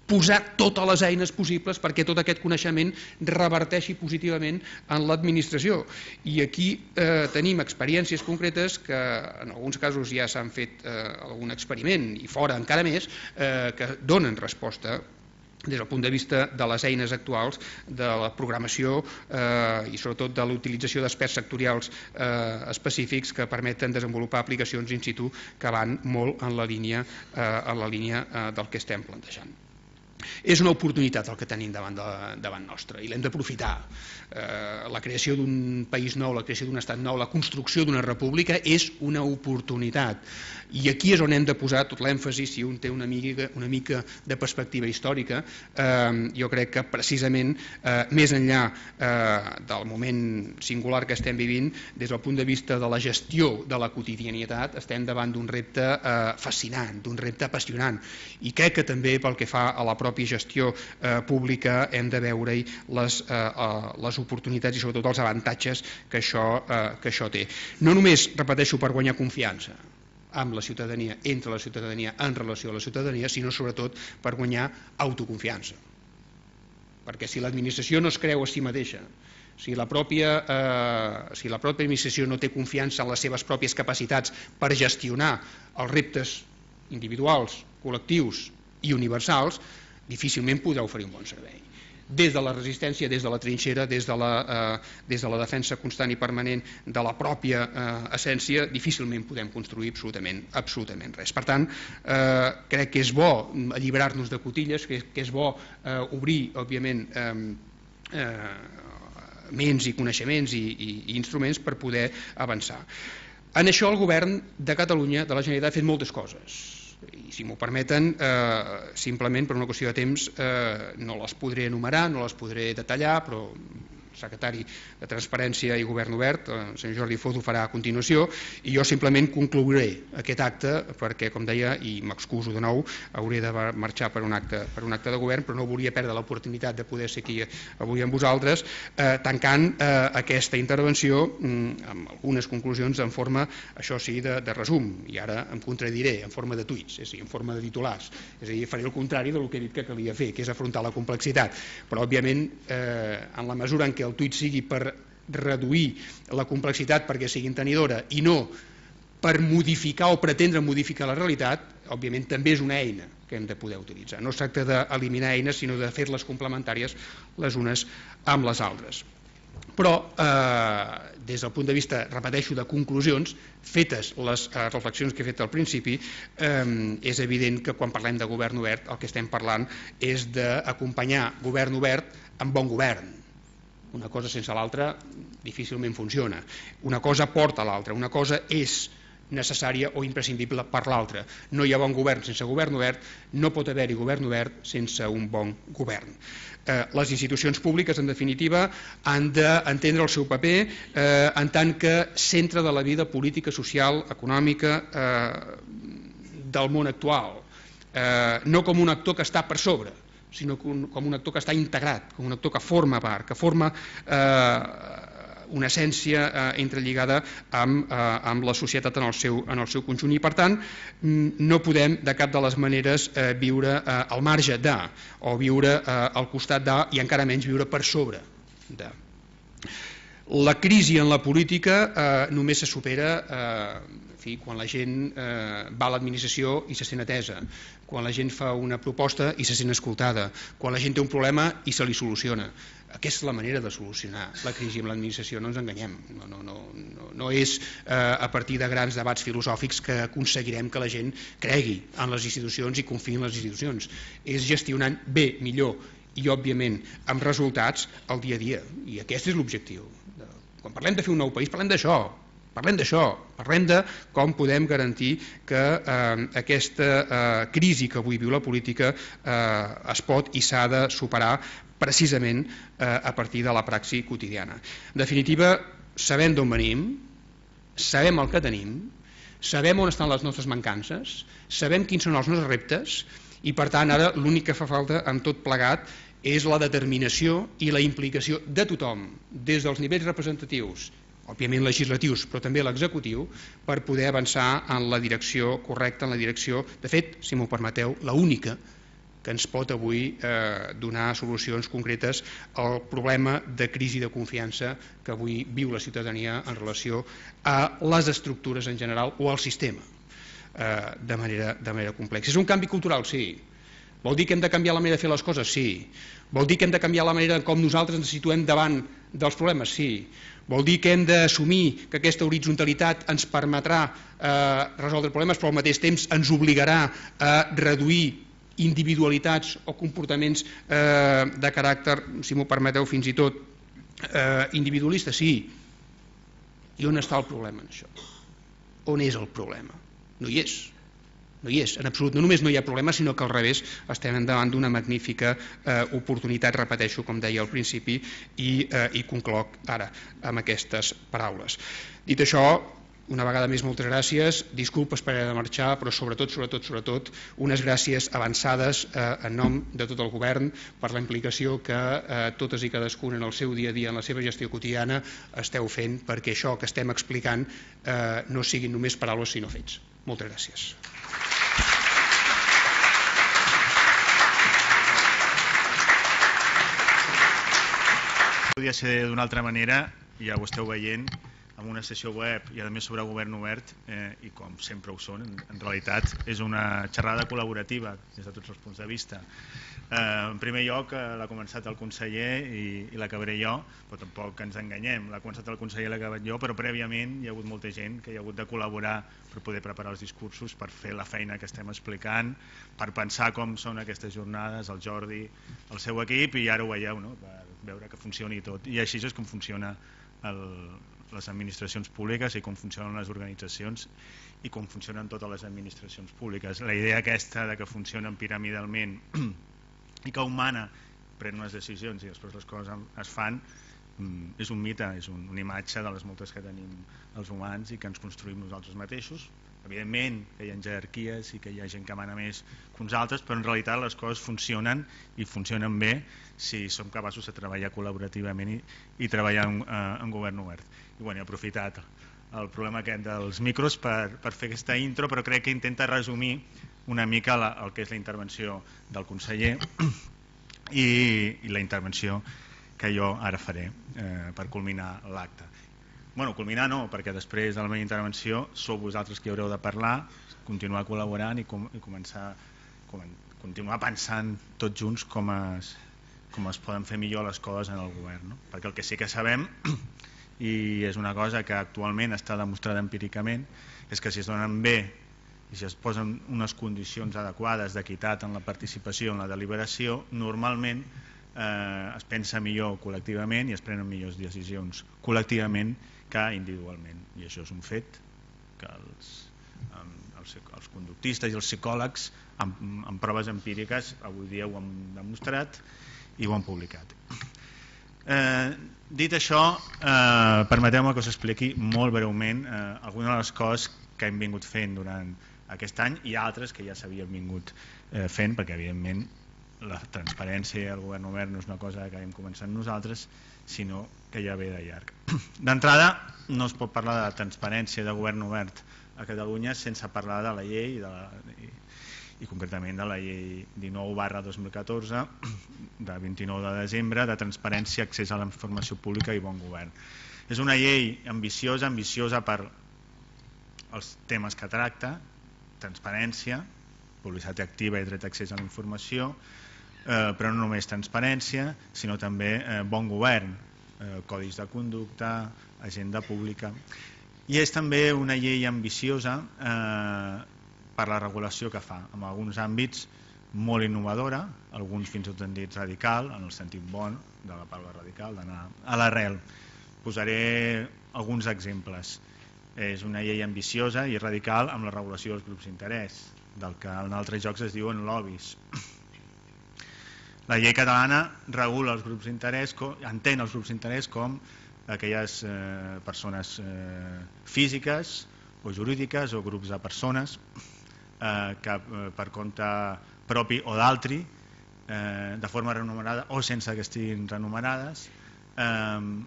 posar totes les eines possibles perquè tot aquest coneixement reverteixi positivament en l'administració. I aquí eh, tenim experiències concretes que en alguns casos ja s'han fet eh, algun experiment, i fora encara més, eh, que donen resposta des del punt de vista de les eines actuals, de la programació eh, i sobretot de l'utilització d'experts sectorials eh, específics que permeten desenvolupar aplicacions in situ que van molt en la línia, eh, en la línia eh, del que estem plantejant. És una oportunitat el que tenim davant, de, davant nostre i l'hem d'aprofitar. Eh, la creació d'un país nou, la creació d'un estat nou, la construcció d'una república és una oportunitat. I aquí és on hem de posar tot l'èmfasi, si un té una mica, una mica de perspectiva històrica. Eh, jo crec que precisament eh, més enllà eh, del moment singular que estem vivint, des del punt de vista de la gestió de la quotidianitat, estem davant d'un repte eh, fascinant, d'un repte apassionant. I crec que també pel que fa a la pròpia gestió eh, pública hem de veure-hi les, eh, eh, les oportunitats i sobretot els avantatges que això, eh, que això té. No només, repeteixo, per guanyar confiança amb la ciutadania, entre la ciutadania, en relació a la ciutadania, sinó sobretot per guanyar autoconfiança. Perquè si l'administració no es creu a si mateixa, si la pròpia, eh, si la pròpia administració no té confiança en les seves pròpies capacitats per gestionar els reptes individuals, col·lectius i universals, difícilment podrà oferir un bon servei. Des de la resistència, des de la trinxera, des de la, eh, des de la defensa constant i permanent de la pròpia eh, essència, difícilment podem construir absolutament, absolutament res. Per tant, eh, crec que és bo alliberar-nos de cotilles, que, que és bo eh, obrir, òbviament, eh, eh, ments i coneixements i, i, i instruments per poder avançar. En això el govern de Catalunya, de la Generalitat, ha fet moltes coses. I si m'ho permeten, eh, simplement per una qüestió de temps eh, no les podré enumerar, no les podré detallar, però el secretari de Transparència i Govern Obert, el senyor Jordi Foz, ho farà a continuació, i jo simplement conclouré aquest acte perquè, com deia, i m'excuso de nou, hauré de marxar per un acte, per un acte de govern, però no volia perdre l'oportunitat de poder ser aquí avui amb vosaltres, eh, tancant eh, aquesta intervenció mm, amb algunes conclusions en forma, això sí, de, de resum, i ara em contradiré, en forma de tuits, és a dir, en forma de titulars, és a dir, faré el contrari del que he dit que calia fer, que és afrontar la complexitat, però òbviament eh, en la mesura en què el tuit sigui per reduir la complexitat perquè sigui entenedora i no per modificar o pretendre modificar la realitat, òbviament també és una eina que hem de poder utilitzar. No es tracta d'eliminar eines, sinó de fer-les complementàries les unes amb les altres. Però, eh, des del punt de vista, repeteixo, de conclusions, fetes les eh, reflexions que he fet al principi, eh, és evident que quan parlem de govern obert el que estem parlant és d'acompanyar govern obert amb bon govern. Una cosa sense l'altra difícilment funciona. Una cosa porta a l'altra, una cosa és necessària o imprescindible per l'altra. No hi ha bon govern sense govern obert, no pot haver-hi govern obert sense un bon govern. Eh, les institucions públiques, en definitiva, han d'entendre el seu paper eh, en tant que centre de la vida política, social, econòmica eh, del món actual. Eh, no com un actor que està per sobre, sinó com un actor que està integrat, com un actor que forma part, que forma eh, una essència eh, entrelligada amb, eh, amb la societat en el, seu, en el seu conjunt. I per tant, no podem de cap de les maneres eh, viure eh, al marge de, o viure eh, al costat de, i encara menys viure per sobre de. La crisi en la política eh, només se supera eh, en fi, quan la gent eh, va a l'administració i se sent atesa, quan la gent fa una proposta i se sent escoltada, quan la gent té un problema i se li soluciona. Aquesta és la manera de solucionar la crisi amb l'administració, no ens enganyem. No, no, no, no, no és eh, a partir de grans debats filosòfics que aconseguirem que la gent cregui en les institucions i confiï en les institucions. És gestionant bé, millor i, òbviament, amb resultats al dia a dia. I aquest és l'objectiu. Quan parlem de fer un nou país, parlem d'això. Parlem d'això, parlem de com podem garantir que eh, aquesta eh, crisi que avui viu la política eh, es pot i s'ha de superar precisament eh, a partir de la praxi quotidiana. En definitiva, sabem d'on venim, sabem el que tenim sabem on estan les nostres mancances, sabem quins són els nostres reptes i per tant ara l'únic que fa falta amb tot plegat és la determinació i la implicació de tothom, des dels nivells representatius, òbviament legislatius, però també l'executiu, per poder avançar en la direcció correcta, en la direcció, de fet, si m'ho permeteu, la única que ens pot avui eh, donar solucions concretes al problema de crisi de confiança que avui viu la ciutadania en relació a les estructures en general o al sistema eh, de, manera, de manera complexa. És un canvi cultural? Sí. Vol dir que hem de canviar la manera de fer les coses? Sí. Vol dir que hem de canviar la manera com nosaltres ens situem davant dels problemes? Sí. Vol dir que hem d'assumir que aquesta horitzontalitat ens permetrà eh, resoldre problemes, però al mateix temps ens obligarà a reduir individualitats o comportaments eh, de caràcter, si m'ho permeteu, fins i tot eh, individualista? Sí. I on està el problema en això? On és el problema? No hi és. No hi és, en absolut. No només no hi ha problema, sinó que al revés estem davant d'una magnífica eh, oportunitat, repeteixo, com deia al principi, i, eh, i concloc ara amb aquestes paraules. Dit això, una vegada més moltes gràcies, disculpes per haver de marxar, però sobretot, sobretot, sobretot, unes gràcies avançades eh, en nom de tot el govern per la implicació que eh, totes i cadascuna en el seu dia a dia, en la seva gestió quotidiana, esteu fent perquè això que estem explicant eh, no siguin només paraules sinó fets. Moltes gràcies. Podria ser d'una altra manera, ja ho esteu veient, amb una sessió web i a més sobre govern obert eh, i com sempre ho són, en, en realitat és una xerrada col·laborativa des de tots els punts de vista. Eh, en primer lloc eh, l'ha començat el conseller i, i l'acabaré jo, però tampoc ens enganyem, l'ha començat el conseller i l'ha acabat jo, però prèviament hi ha hagut molta gent que hi ha hagut de col·laborar per poder preparar els discursos, per fer la feina que estem explicant, per pensar com són aquestes jornades, el Jordi, el seu equip, i ara ho veieu, no? Per veure que funcioni tot. I així és com funciona el, les administracions públiques i com funcionen les organitzacions i com funcionen totes les administracions públiques. La idea aquesta de que funcionen piramidalment i que un mana pren unes decisions i després les coses es fan és un mite, és un, una imatge de les moltes que tenim els humans i que ens construïm nosaltres mateixos. Evidentment que hi ha jerarquies i que hi ha gent que mana més que uns altres, però en realitat les coses funcionen i funcionen bé si som capaços de treballar col·laborativament i, i treballar en, en govern obert. I bueno, he aprofitat el problema aquest dels micros per, per fer aquesta intro, però crec que intenta resumir una mica la, el que és la intervenció del conseller i, i la intervenció que jo ara faré eh, per culminar l'acte. Bueno, culminar no, perquè després de la meva intervenció sou vosaltres qui haureu de parlar, continuar col·laborant i, com, i començar com, continuar pensant tots junts com es, com es poden fer millor les coses en el govern, no? Perquè el que sí que sabem, i és una cosa que actualment està demostrada empíricament, és que si es donen bé i si es posen unes condicions adequades d'equitat en la participació, en la deliberació, normalment eh, es pensa millor col·lectivament i es prenen millors decisions col·lectivament que individualment, i això és un fet que els, els, els conductistes i els psicòlegs amb, amb proves empíriques avui dia ho han demostrat i ho han publicat. Eh, dit això, eh, permeteu-me que us expliqui molt breument eh, algunes de les coses que hem vingut fent durant aquest any i altres que ja s'havien vingut eh, fent, perquè evidentment la transparència i el govern obert no és una cosa que hem començat nosaltres, sinó que ja ve de llarg. D'entrada, no es pot parlar de transparència de govern obert a Catalunya sense parlar de la llei de la, i, i concretament de la llei dinou barra dos mil catorze de vint-i-nou de desembre de transparència, accés a la informació pública i bon govern. És una llei ambiciosa, ambiciosa per els temes que tracta, transparència, publicitat activa i dret d'accés a la informació, eh, però no només transparència, sinó també eh, bon govern, eh, codis de conducta, agenda pública. I és també una llei ambiciosa eh, per la regulació que fa, en alguns àmbits molt innovadora, alguns fins i tot han dit radical, en el sentit bon de la paraula radical, d'anar a l'arrel. Posaré alguns exemples. És una llei ambiciosa i radical amb la regulació dels grups d'interès, del que en altres jocs es diuen lobbies. La llei catalana regula els grups d'interès, entén els grups d'interès com aquelles eh, persones eh, físiques o jurídiques o grups de persones eh, que per compte propi o d'altri, eh, de forma remunerada o sense que estiguin remunerades, eh,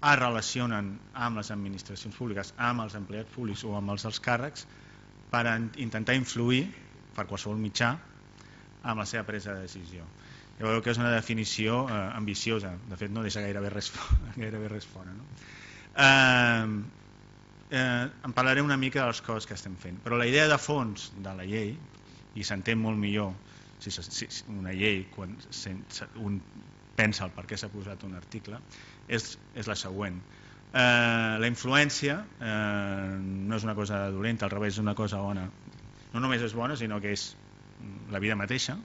es relacionen amb les administracions públiques, amb els empleats públics o amb els alts càrrecs per intentar influir per qualsevol mitjà amb la seva presa de decisió. Jo veig que és una definició eh, ambiciosa, de fet no deixa gairebé res, gairebé res fora. No? Eh, eh, em parlaré una mica de les coses que estem fent, però la idea de fons de la llei, i s'entén molt millor si, si una llei quan un pensa el per què s'ha posat un article, és, és la següent. Eh, la influència eh, no és una cosa dolenta, al revés, és una cosa bona. No només és bona, sinó que és la vida mateixa,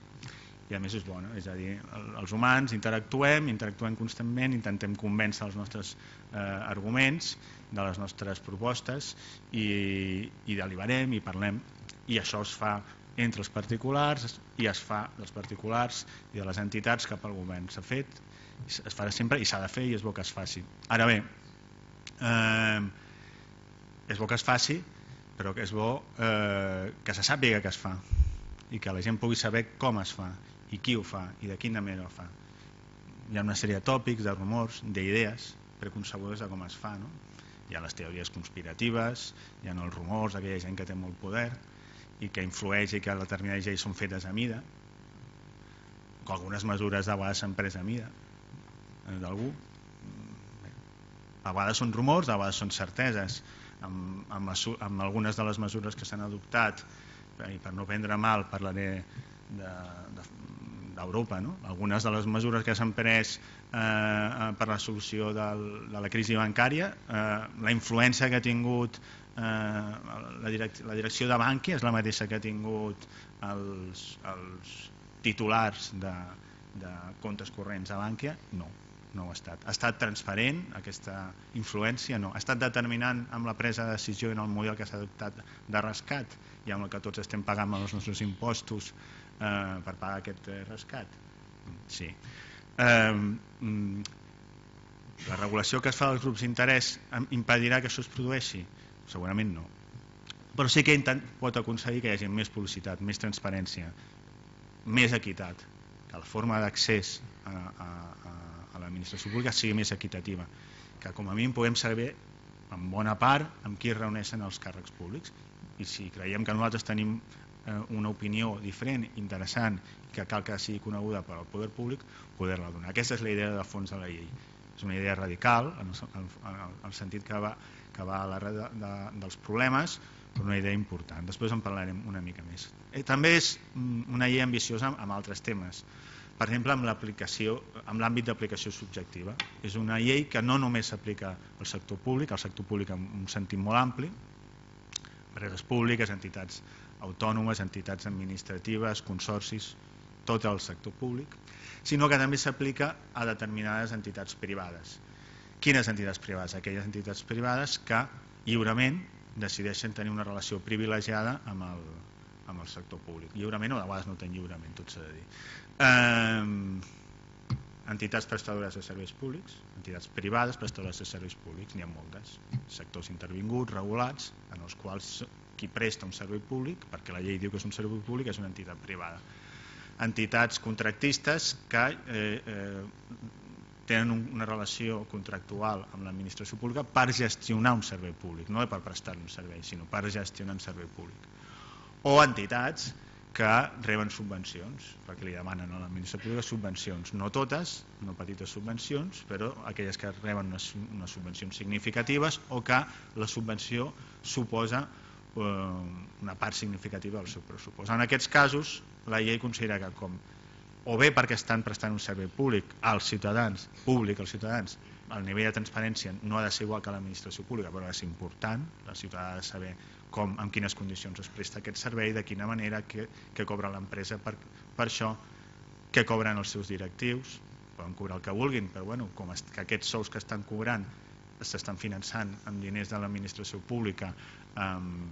i a més és bona, és a dir, els humans interactuem, interactuem constantment, intentem convèncer els nostres eh, arguments de les nostres propostes i, i deliberem i parlem, i això es fa entre els particulars i es fa dels particulars i de les entitats cap al govern. S'ha fet, es farà sempre i s'ha de fer i és bo que es faci. Ara bé, eh, és bo que es faci, però que és bo eh, que se sàpiga que es fa i que la gent pugui saber com es fa i qui ho fa i de quina manera ho fa. Hi ha una sèrie de tòpics, de rumors, d'idees preconcebudes de com es fa. No? Hi ha les teories conspiratives, hi ha els rumors d'aquella gent que té molt poder i que influeix i que determinades lleis són fetes a mida, que algunes mesures de vegades s'han pres a mida d'algú. A vegades són rumors, a vegades són certeses. Amb, amb, les, amb algunes de les mesures que s'han adoptat, i per no prendre mal parlaré d'Europa, de, de, no? Algunes de les mesures que s'han pres eh, per la solució del, de la crisi bancària, eh, la influència que ha tingut eh, la, direc la direcció de Bankia és la mateixa que ha tingut els, els titulars de, de comptes corrents a Bankia? No, no ho ha estat. Ha estat transparent aquesta influència? No. Ha estat determinant amb la presa de decisió en el model que s'ha adoptat de rescat i amb el que tots estem pagant els nostres impostos eh, per pagar aquest eh, rescat? Sí. Eh, la regulació que es fa dels grups d'interès impedirà que això es produeixi? Segurament no. Però sí que pot aconseguir que hi hagi més publicitat, més transparència, més equitat, que la forma d'accés a, a, a l'administració pública sigui més equitativa, que com a mínim puguem saber en bona part amb qui es reuneixen els càrrecs públics, i si creiem que nosaltres tenim eh, una opinió diferent, interessant, que cal que sigui coneguda per al poder públic, poder-la donar. Aquesta és la idea de fons de la llei. És una idea radical, en el, en el sentit que va, que va a l'arrel de, de, dels problemes, però una idea important. Després en parlarem una mica més. Eh, també és una llei ambiciosa amb altres temes. Per exemple, amb l'aplicació, amb l'àmbit d'aplicació subjectiva. És una llei que no només s'aplica al sector públic, al sector públic en un sentit molt ampli, empreses públiques, entitats autònomes, entitats administratives, consorcis, tot el sector públic, sinó que també s'aplica a determinades entitats privades. Quines entitats privades? Aquelles entitats privades que lliurement decideixen tenir una relació privilegiada amb el, amb el sector públic. Lliurement o de vegades no tenen lliurement, tot s'ha de dir. Eh, entitats prestadores de serveis públics, entitats privades prestadores de serveis públics, n'hi ha moltes. Sectors intervinguts, regulats, en els quals qui presta un servei públic, perquè la llei diu que és un servei públic, és una entitat privada. Entitats contractistes que eh, eh, tenen una relació contractual amb l'administració pública per gestionar un servei públic, no per prestar un servei, sinó per gestionar un servei públic. O entitats que reben subvencions, perquè li demanen a l'administració pública subvencions, no totes, no petites subvencions, però aquelles que reben unes, unes subvencions significatives o que la subvenció suposa eh, una part significativa del seu pressupost. En aquests casos, la llei considera que com o bé perquè estan prestant un servei públic als ciutadans, públic als ciutadans, el nivell de transparència no ha de ser igual que l'administració pública, però ha de ser important, la ciutadà ha de saber com, en quines condicions es presta aquest servei, de quina manera, què, què cobra l'empresa per, per això, què cobren els seus directius, poden cobrar el que vulguin, però bueno, com es, que aquests sous que estan cobrant s'estan finançant amb diners de l'administració pública um,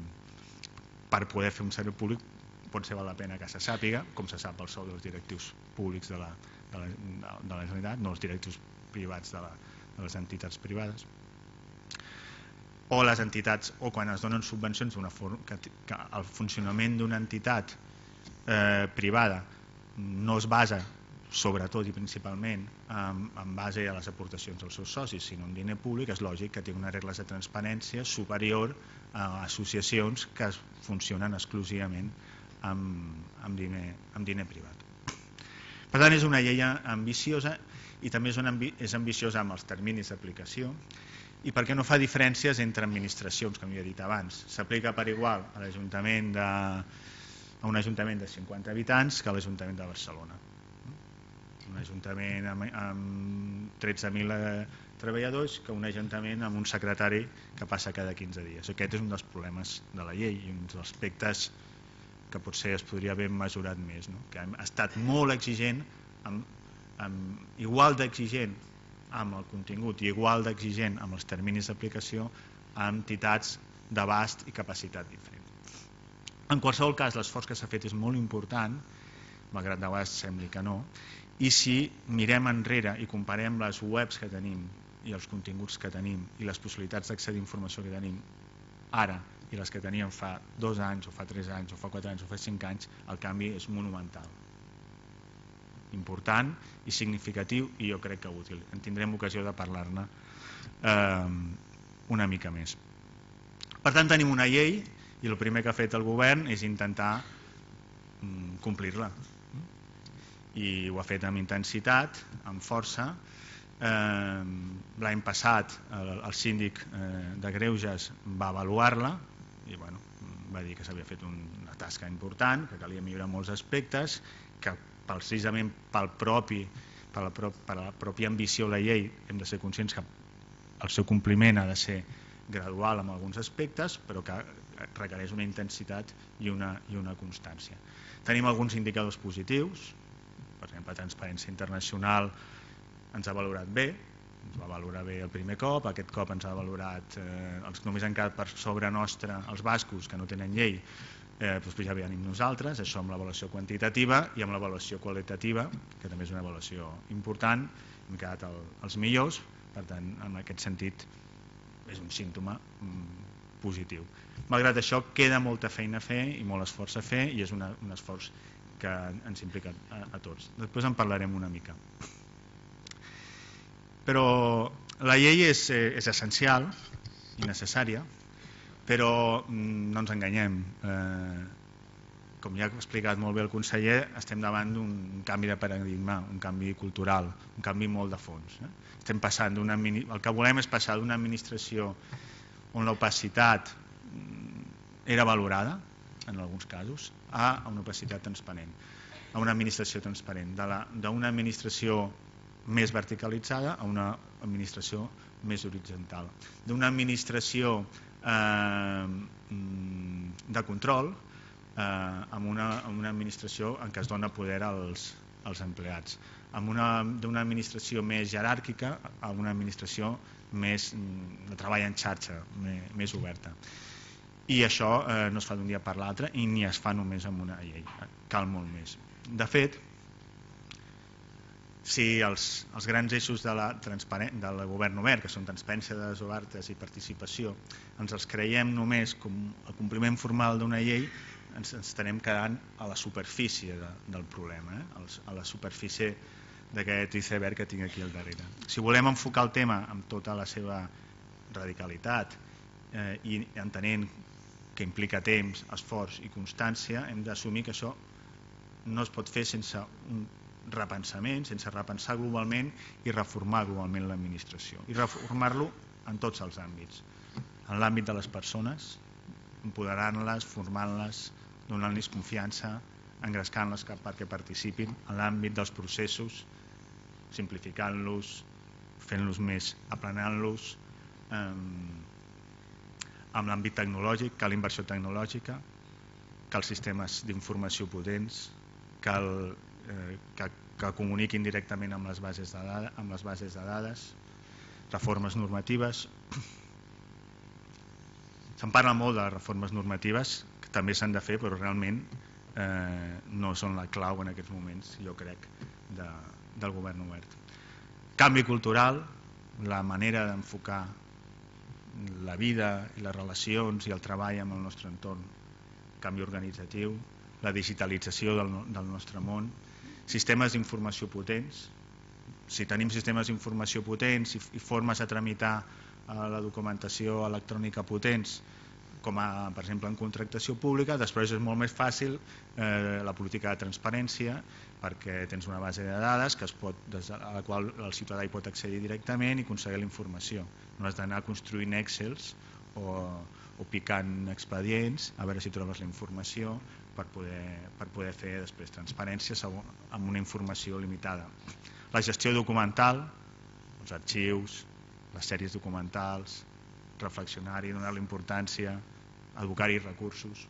per poder fer un servei públic, potser val la pena que se sàpiga, com se sap el sou dels directius públics de la, de la, de la Generalitat, no els directius privats de, la, de les entitats privades. o les entitats, o quan es donen subvencions d'una forma que, que el funcionament d'una entitat eh, privada no es basa sobretot i principalment en, en base a les aportacions dels seus socis, sinó en diner públic, és lògic que tingui unes regles de transparència superior a associacions que funcionen exclusivament amb, amb, diner, amb diner privat. Per tant, és una llei ambiciosa i també és, una, és ambiciosa amb els terminis d'aplicació i perquè no fa diferències entre administracions, com ja he dit abans. S'aplica per igual a l'Ajuntament de, a un ajuntament de cinquanta habitants que a l'Ajuntament de Barcelona. Un ajuntament amb, amb tretze mil treballadors que un ajuntament amb un secretari que passa cada quinze dies. Aquest és un dels problemes de la llei i un dels aspectes que potser es podria haver mesurat més, no? Que ha estat molt exigent, amb, amb, igual d'exigent amb el contingut i igual d'exigent amb els terminis d'aplicació a entitats d'abast i capacitat diferent. En qualsevol cas, l'esforç que s'ha fet és molt important, malgrat de vegades sembli que no, i si mirem enrere i comparem les webs que tenim i els continguts que tenim i les possibilitats d'accedir a informació que tenim ara i les que teníem fa dos anys o fa tres anys o fa quatre anys o fa cinc anys, el canvi és monumental, important i significatiu i jo crec que útil. En tindrem ocasió de parlar-ne eh, una mica més. Per tant, tenim una llei i el primer que ha fet el govern és intentar mm, complir-la. I ho ha fet amb intensitat, amb força. Eh, L'any passat el, el síndic eh, de Greuges va avaluar-la i bueno, va dir que s'havia fet una tasca important, que calia millorar molts aspectes, que precisament pel propi, per la, pro, per la pròpia ambició de la llei hem de ser conscients que el seu compliment ha de ser gradual en alguns aspectes, però que requereix una intensitat i una, i una constància. Tenim alguns indicadors positius. Per exemple, Transparència Internacional ens ha valorat bé, ens va valorar bé el primer cop, aquest cop ens ha valorat, eh, els que només han quedat per sobre nostre, els bascos, que no tenen llei, eh, doncs ja venim nosaltres, això amb l'avaluació quantitativa i amb l'avaluació qualitativa, que també és una avaluació important, hem quedat el, els millors, per tant, en aquest sentit, és un símptoma mm, positiu. Malgrat això, queda molta feina a fer i molt esforç a fer i és una, un esforç que ens implica a, a tots. Després en parlarem una mica. Però la llei és, és essencial i necessària, però no ens enganyem. Eh, com ja ha explicat molt bé el conseller, estem davant d'un canvi de paradigma, un canvi cultural, un canvi molt de fons. Eh? Estem passant d'una, el que volem és passar d'una administració on l'opacitat era valorada, en alguns casos, a una opacitat transparent, a una administració transparent, d'una administració més verticalitzada a una administració més horitzontal, d'una administració eh, de control eh, amb, una, amb una administració en què es dona poder als, als empleats, amb una, d'una administració més jeràrquica a una administració més de treball en xarxa, més, més oberta. I això eh, no es fa d'un dia per l'altre i ni es fa només amb una llei, cal molt més. De fet, si els, els grans eixos de la del govern obert, que són transparència, dades obertes i participació, ens els creiem només com el compliment formal d'una llei, ens, ens estarem quedant a la superfície de, del problema, eh? a la superfície d'aquest iceberg que tinc aquí al darrere. Si volem enfocar el tema amb tota la seva radicalitat eh, i entenent que implica temps, esforç i constància, hem d'assumir que això no es pot fer sense un repensament, sense repensar globalment i reformar globalment l'administració. I reformar-lo en tots els àmbits. En l'àmbit de les persones, empoderant-les, formant-les, donant-los confiança, engrescant-les perquè participin, en l'àmbit dels processos, simplificant-los, fent-los més, aplanant-los, eh, amb l'àmbit tecnològic, cal inversió tecnològica, cal sistemes d'informació potents, cal eh, que, que comuniquin directament amb les bases de dades, amb les bases de dades, reformes normatives. Se'n parla molt de reformes normatives, que també s'han de fer, però realment eh, no són la clau en aquests moments, jo crec, de, del govern obert. Canvi cultural, la manera d'enfocar la vida i les relacions i el treball amb el nostre entorn, canvi organitzatiu, la digitalització del, del nostre món, sistemes d'informació potents. Si tenim sistemes d'informació potents i, i formes de tramitar eh, la documentació electrònica potents, com a, per exemple, en contractació pública, després és molt més fàcil eh, la política de transparència, perquè tens una base de dades que es pot, des a la qual el ciutadà hi pot accedir directament i aconseguir la informació. No has d'anar construint Excels o, o picant expedients a veure si trobes la informació per poder, per poder fer després transparència segon, amb una informació limitada. La gestió documental, els arxius, les sèries documentals, reflexionar-hi, donar-li importància, advocar-hi recursos,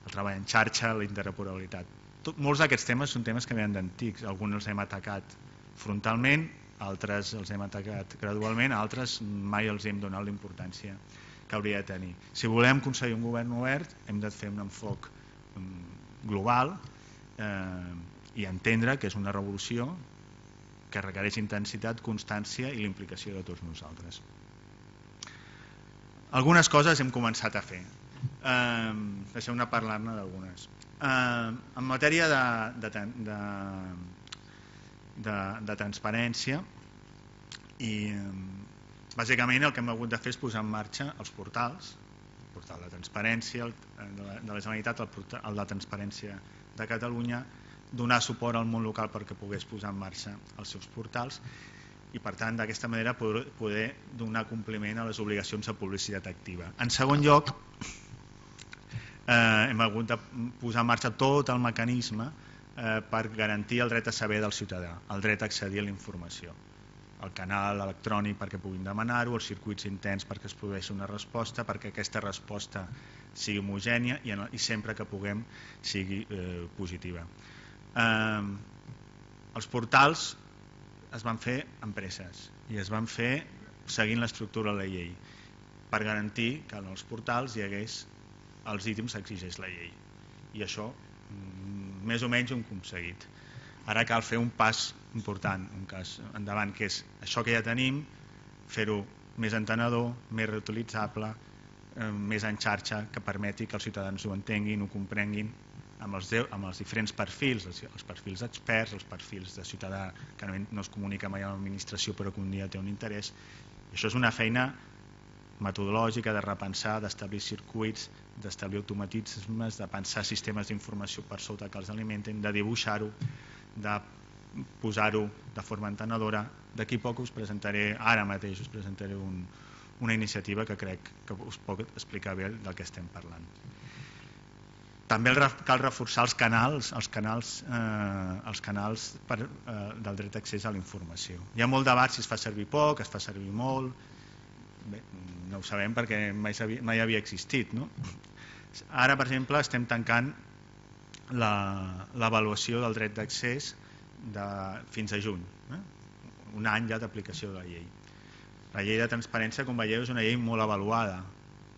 el treball en xarxa, la interoperabilitat. Tot, molts d'aquests temes són temes que venen d'antics, alguns els hem atacat frontalment, altres els hem atacat gradualment, altres mai els hem donat la importància que hauria de tenir. Si volem aconseguir un govern obert, hem de fer un enfoc global eh, i entendre que és una revolució que requereix intensitat, constància i l'implicació de tots nosaltres. Algunes coses hem començat a fer. Eh, Deixeu-me parlar-ne d'algunes. Eh, en matèria de, de, de, de, de transparència, i bàsicament el que hem hagut de fer és posar en marxa els portals, el portal de transparència el, de, la, de la Generalitat, el, portal, el de transparència de Catalunya, donar suport al món local perquè pogués posar en marxa els seus portals i per tant d'aquesta manera poder, poder donar compliment a les obligacions de publicitat activa. En segon lloc, eh, hem hagut de posar en marxa tot el mecanisme eh, per garantir el dret a saber del ciutadà, el dret a accedir a la informació, el canal electrònic perquè puguin demanar-ho, els circuits interns perquè es produeixi una resposta, perquè aquesta resposta sigui homogènia i, en, i sempre que puguem sigui eh, positiva. Eh, els portals es van fer en presses i es van fer seguint l'estructura de la llei per garantir que en els portals hi hagués els ítems que exigeix la llei i això més o menys ho hem aconseguit. Ara cal fer un pas important, un cas endavant, que és això que ja tenim, fer-ho més entenedor, més reutilitzable, eh, més en xarxa, que permeti que els ciutadans ho entenguin, ho comprenguin, amb els, amb els diferents perfils, els, els perfils experts, els perfils de ciutadà que no, no es comunica mai amb l'administració però que un dia té un interès. I això és una feina metodològica de repensar, d'establir circuits, d'establir automatismes, de pensar sistemes d'informació per sota que els alimenten, de dibuixar-ho, de posar-ho de forma entenedora. D'aquí poc us presentaré, ara mateix us presentaré un, una iniciativa que crec que us pot explicar bé del que estem parlant. També cal reforçar els canals, els canals, eh, els canals per, eh, del dret d'accés a la informació. Hi ha molt debat si es fa servir poc, es fa servir molt. Bé, no ho sabem perquè mai, mai havia existit. No? Ara, per exemple, estem tancant l'avaluació del dret d'accés de, fins a juny. Eh? Un any ja d'aplicació de la llei. La llei de transparència, com veieu, és una llei molt avaluada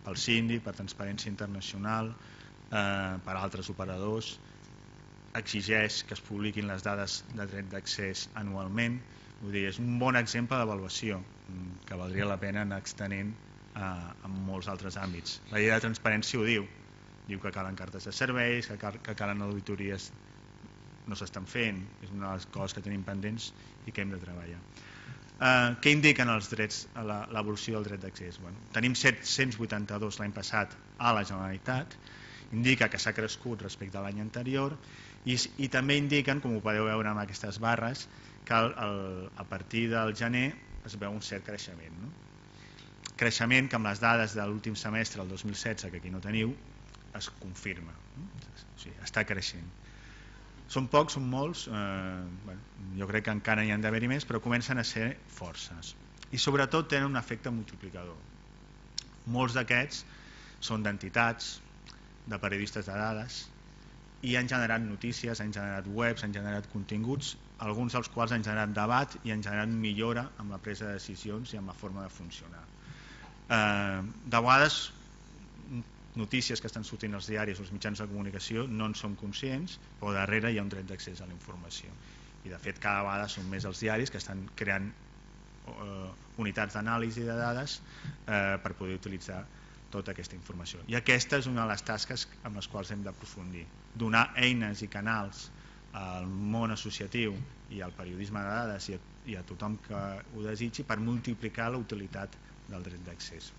pel síndic, per Transparència Internacional, eh, per altres operadors, exigeix que es publiquin les dades de dret d'accés anualment. Vull dir, és un bon exemple d'avaluació que valdria la pena anar extenent eh, en molts altres àmbits. La llei de transparència ho diu, diu que calen cartes de serveis, que, cal, que calen auditories, no s'estan fent, és una de les coses que tenim pendents i que hem de treballar. Eh, què indiquen els drets, l'evolució del dret d'accés? Bueno, tenim set-cents vuitanta-dos l'any passat a la Generalitat, indica que s'ha crescut respecte a l'any anterior i, i també indiquen, com ho podeu veure amb aquestes barres, que el, el, a partir del gener es veu un cert creixement. No? Creixement que amb les dades de l'últim semestre, el dos mil setze, que aquí no teniu, es confirma. No? O sigui, està creixent. Són pocs, són molts, eh, bueno, jo crec que encara hi han d'haver-hi més, però comencen a ser forces. I sobretot tenen un efecte multiplicador. Molts d'aquests són d'entitats, de periodistes de dades, i han generat notícies, han generat webs, han generat continguts, alguns dels quals han generat debat i han generat millora amb la presa de decisions i amb la forma de funcionar. Eh, de vegades, notícies que estan sortint als diaris o als mitjans de comunicació no en som conscients, però darrere hi ha un dret d'accés a la informació. I de fet cada vegada són més els diaris que estan creant unitats d'anàlisi de dades per poder utilitzar tota aquesta informació. I aquesta és una de les tasques amb les quals hem d'aprofundir. Donar eines i canals al món associatiu i al periodisme de dades i a tothom que ho desitgi per multiplicar la utilitat del dret d'accés.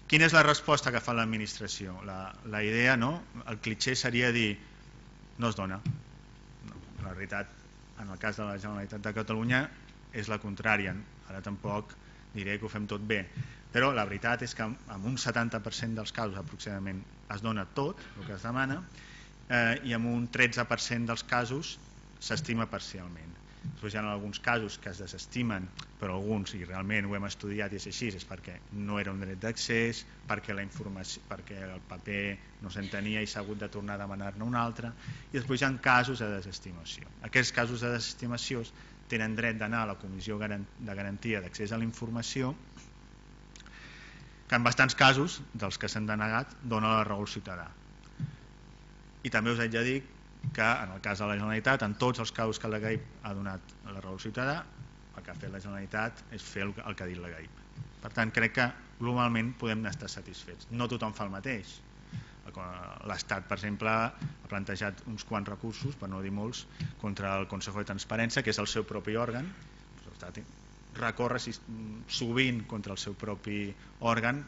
Quina és la resposta que fa l'administració? La idea, el clitxer seria dir no es dona. La realitat, en el cas de la Generalitat de Catalunya, és la contrària. Ara tampoc diré que ho fem tot bé, però la veritat és que en un setanta per cent dels casos aproximadament es dona tot el que es demana i en un tretze per cent dels casos s'estima parcialment. Després hi ha alguns casos que es desestimen, però alguns, i realment ho hem estudiat i és així, és perquè no era un dret d'accés, perquè la informació, perquè el paper no s'entenia i s'ha hagut de tornar a demanar-ne un altre, i després hi ha casos de desestimació. Aquests casos de desestimació tenen dret d'anar a la Comissió de Garantia d'Accés a la Informació, que en bastants casos, dels que s'han denegat, dona la raó al ciutadà. I també us haig de dir que en el cas de la Generalitat, en tots els casos que la G A I P ha donat la raó al ciutadà, el que ha fet la Generalitat és fer el que ha dit la G A I P. Per tant, crec que globalment podem estar satisfets. No tothom fa el mateix. L'Estat, per exemple, ha plantejat uns quants recursos, per no dir molts, contra el Consejo de Transparència, que és el seu propi òrgan. L'Estat recorre sovint contra el seu propi òrgan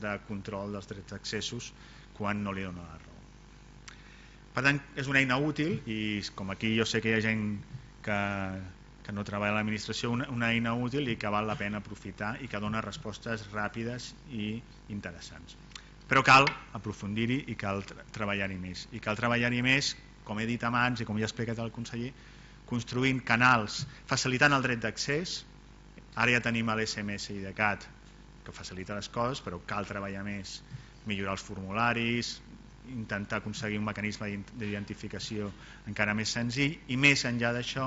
de control dels drets d'accessos quan no li dona la raó. Per tant, és una eina útil i com aquí jo sé que hi ha gent que, que no treballa a l'administració, una, una eina útil i que val la pena aprofitar i que dona respostes ràpides i interessants. Però cal aprofundir-hi i cal treballar-hi més. I cal treballar-hi més, com he dit abans i com ja ha explicat el conseller, construint canals, facilitant el dret d'accés. Ara ja tenim l'S M S I D C A T que facilita les coses, però cal treballar més, millorar els formularis, intentar aconseguir un mecanisme d'identificació encara més senzill i més enllà d'això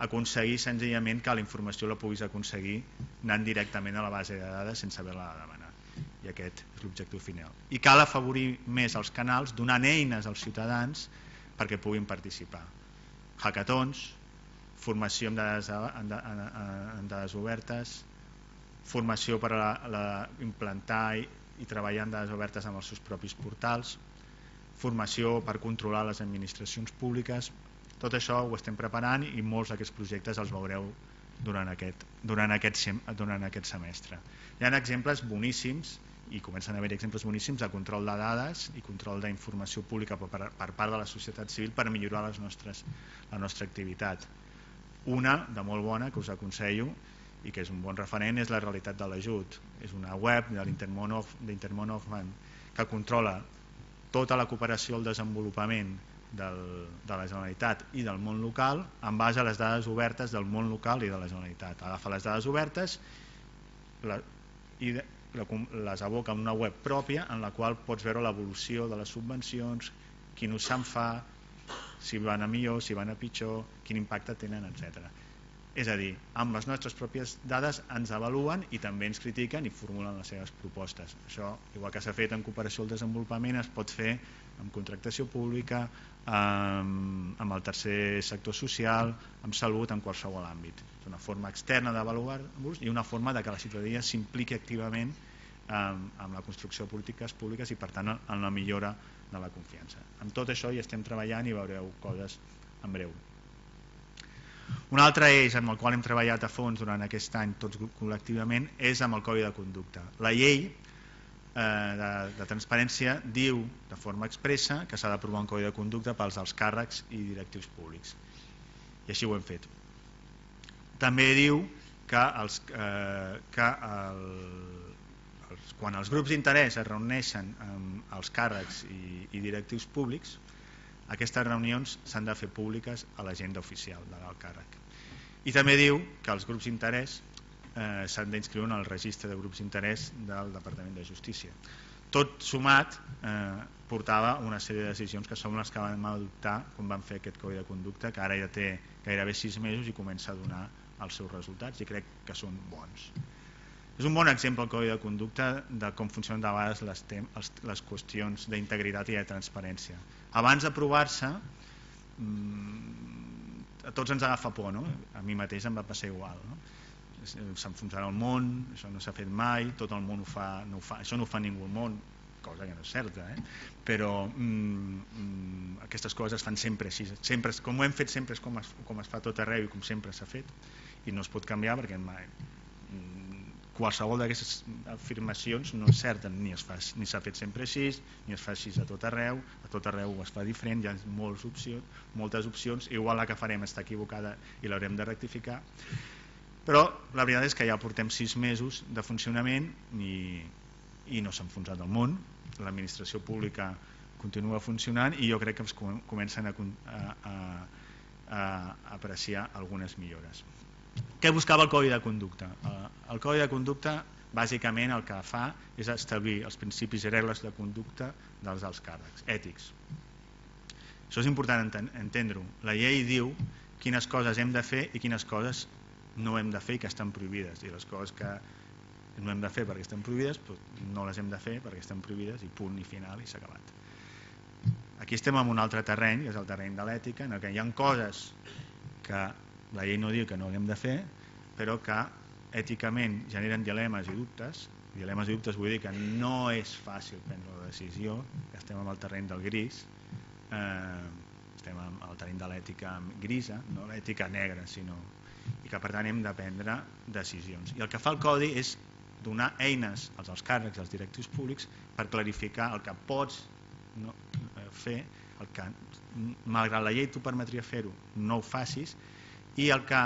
aconseguir senzillament que la informació la puguis aconseguir anant directament a la base de dades sense haver-la de demanar, i aquest és l'objectiu final. I cal afavorir més els canals donant eines als ciutadans perquè puguin participar. Hackathons, formació en dades, en, en, en dades obertes, formació per a la, la, implantar i i treballar en dades obertes amb els seus propis portals, formació per controlar les administracions públiques. Tot això ho estem preparant i molts d'aquests projectes els veureu durant aquest, durant aquest, durant aquest semestre. Hi ha exemples boníssims i comencen a haver exemples boníssims de control de dades i control d'informació pública per, per part de la societat civil per millorar les nostres, la nostra activitat. Una de molt bona que us aconsello i que és un bon referent és la realitat de l'ajut. És una web de l'Intermón Hoffman que controla tota la cooperació al desenvolupament del, de la Generalitat i del món local en base a les dades obertes del món local i de la Generalitat. Agafa les dades obertes la, i la, les aboca en una web pròpia en la qual pots veure l'evolució de les subvencions, quin ús se'n fa, si van a millor, si van a pitjor, quin impacte tenen, etcètera. És a dir, amb les nostres pròpies dades ens avaluen i també ens critiquen i formulen les seves propostes. Això, igual que s'ha fet en cooperació al desenvolupament, es pot fer amb contractació pública, amb, amb el tercer sector social, amb salut, en qualsevol àmbit. És una forma externa d'avaluar-vos i una forma de que la ciutadania s'impliqui activament amb, amb la construcció de polítiques públiques i, per tant, en la millora de la confiança. Amb tot això hi estem treballant i veureu coses en breu. Un altre eix amb el qual hem treballat a fons durant aquest any tots col·lectivament és amb el Codi de Conducta. La llei eh, de, de transparència diu de forma expressa que s'ha d'aprovar un Codi de Conducta pels alts càrrecs i directius públics. I així ho hem fet. També diu que, els, eh, que el, els, quan els grups d'interès es reuneixen amb els càrrecs i, i directius públics, aquestes reunions s'han de fer públiques a l'agenda oficial de l'alt càrrec. I també diu que els grups d'interès eh, s'han d'inscriure en el registre de grups d'interès del Departament de Justícia. Tot sumat eh, portava una sèrie de decisions que són les que vam adoptar quan vam fer aquest Codi de Conducta, que ara ja té gairebé sis mesos i comença a donar els seus resultats i crec que són bons. És un bon exemple el Codi de Conducta de com funcionen de vegades les, les, les qüestions d'integritat i de transparència. Abans d'aprovar-se a tots ens agafa por, no? A mi mateix em va passar igual, no? S'enfonsarà el món, això no s'ha fet mai, tot el món ho fa, no ho fa, això no ho fa ningú al món, cosa que no és certa, eh? Però mm, aquestes coses es fan sempre així, sempre, com ho hem fet sempre és com es, com es fa tot arreu i com sempre s'ha fet, i no es pot canviar perquè mai, qualsevol d'aquestes afirmacions no és certa, ni es fa, ni s'ha fet sempre així, ni es fa així a tot arreu, a tot arreu es fa diferent, hi ha moltes opcions, moltes opcions, igual la que farem està equivocada i l'haurem de rectificar, però la veritat és que ja portem sis mesos de funcionament i, i no s'ha enfonsat el món, l'administració pública continua funcionant i jo crec que es comencen a, a, a, a apreciar algunes millores. Què buscava el Codi de Conducta? El Codi de Conducta bàsicament el que fa és establir els principis i regles de conducta dels alts càrrecs, ètics. Això és important entendre-ho. La llei diu quines coses hem de fer i quines coses no hem de fer i que estan prohibides, i les coses que no hem de fer perquè estan prohibides no les hem de fer perquè estan prohibides i punt i final i s'ha acabat. Aquí estem en un altre terreny, que és el terreny de l'ètica, en què hi ha coses que la llei no diu que no haguem de fer, però que èticament generen dilemes i dubtes. Dilemes i dubtes vull dir que no és fàcil prendre la decisió, que estem en el terreny del gris, eh, estem en el terreny de l'ètica grisa, no l'ètica negra, sinó, i que per tant hem de prendre decisions. I el que fa el Codi és donar eines als alts càrrecs, als directius públics, per clarificar el que pots no, fer, el que, malgrat la llei t'ho permetria fer-ho, no ho facis, i el que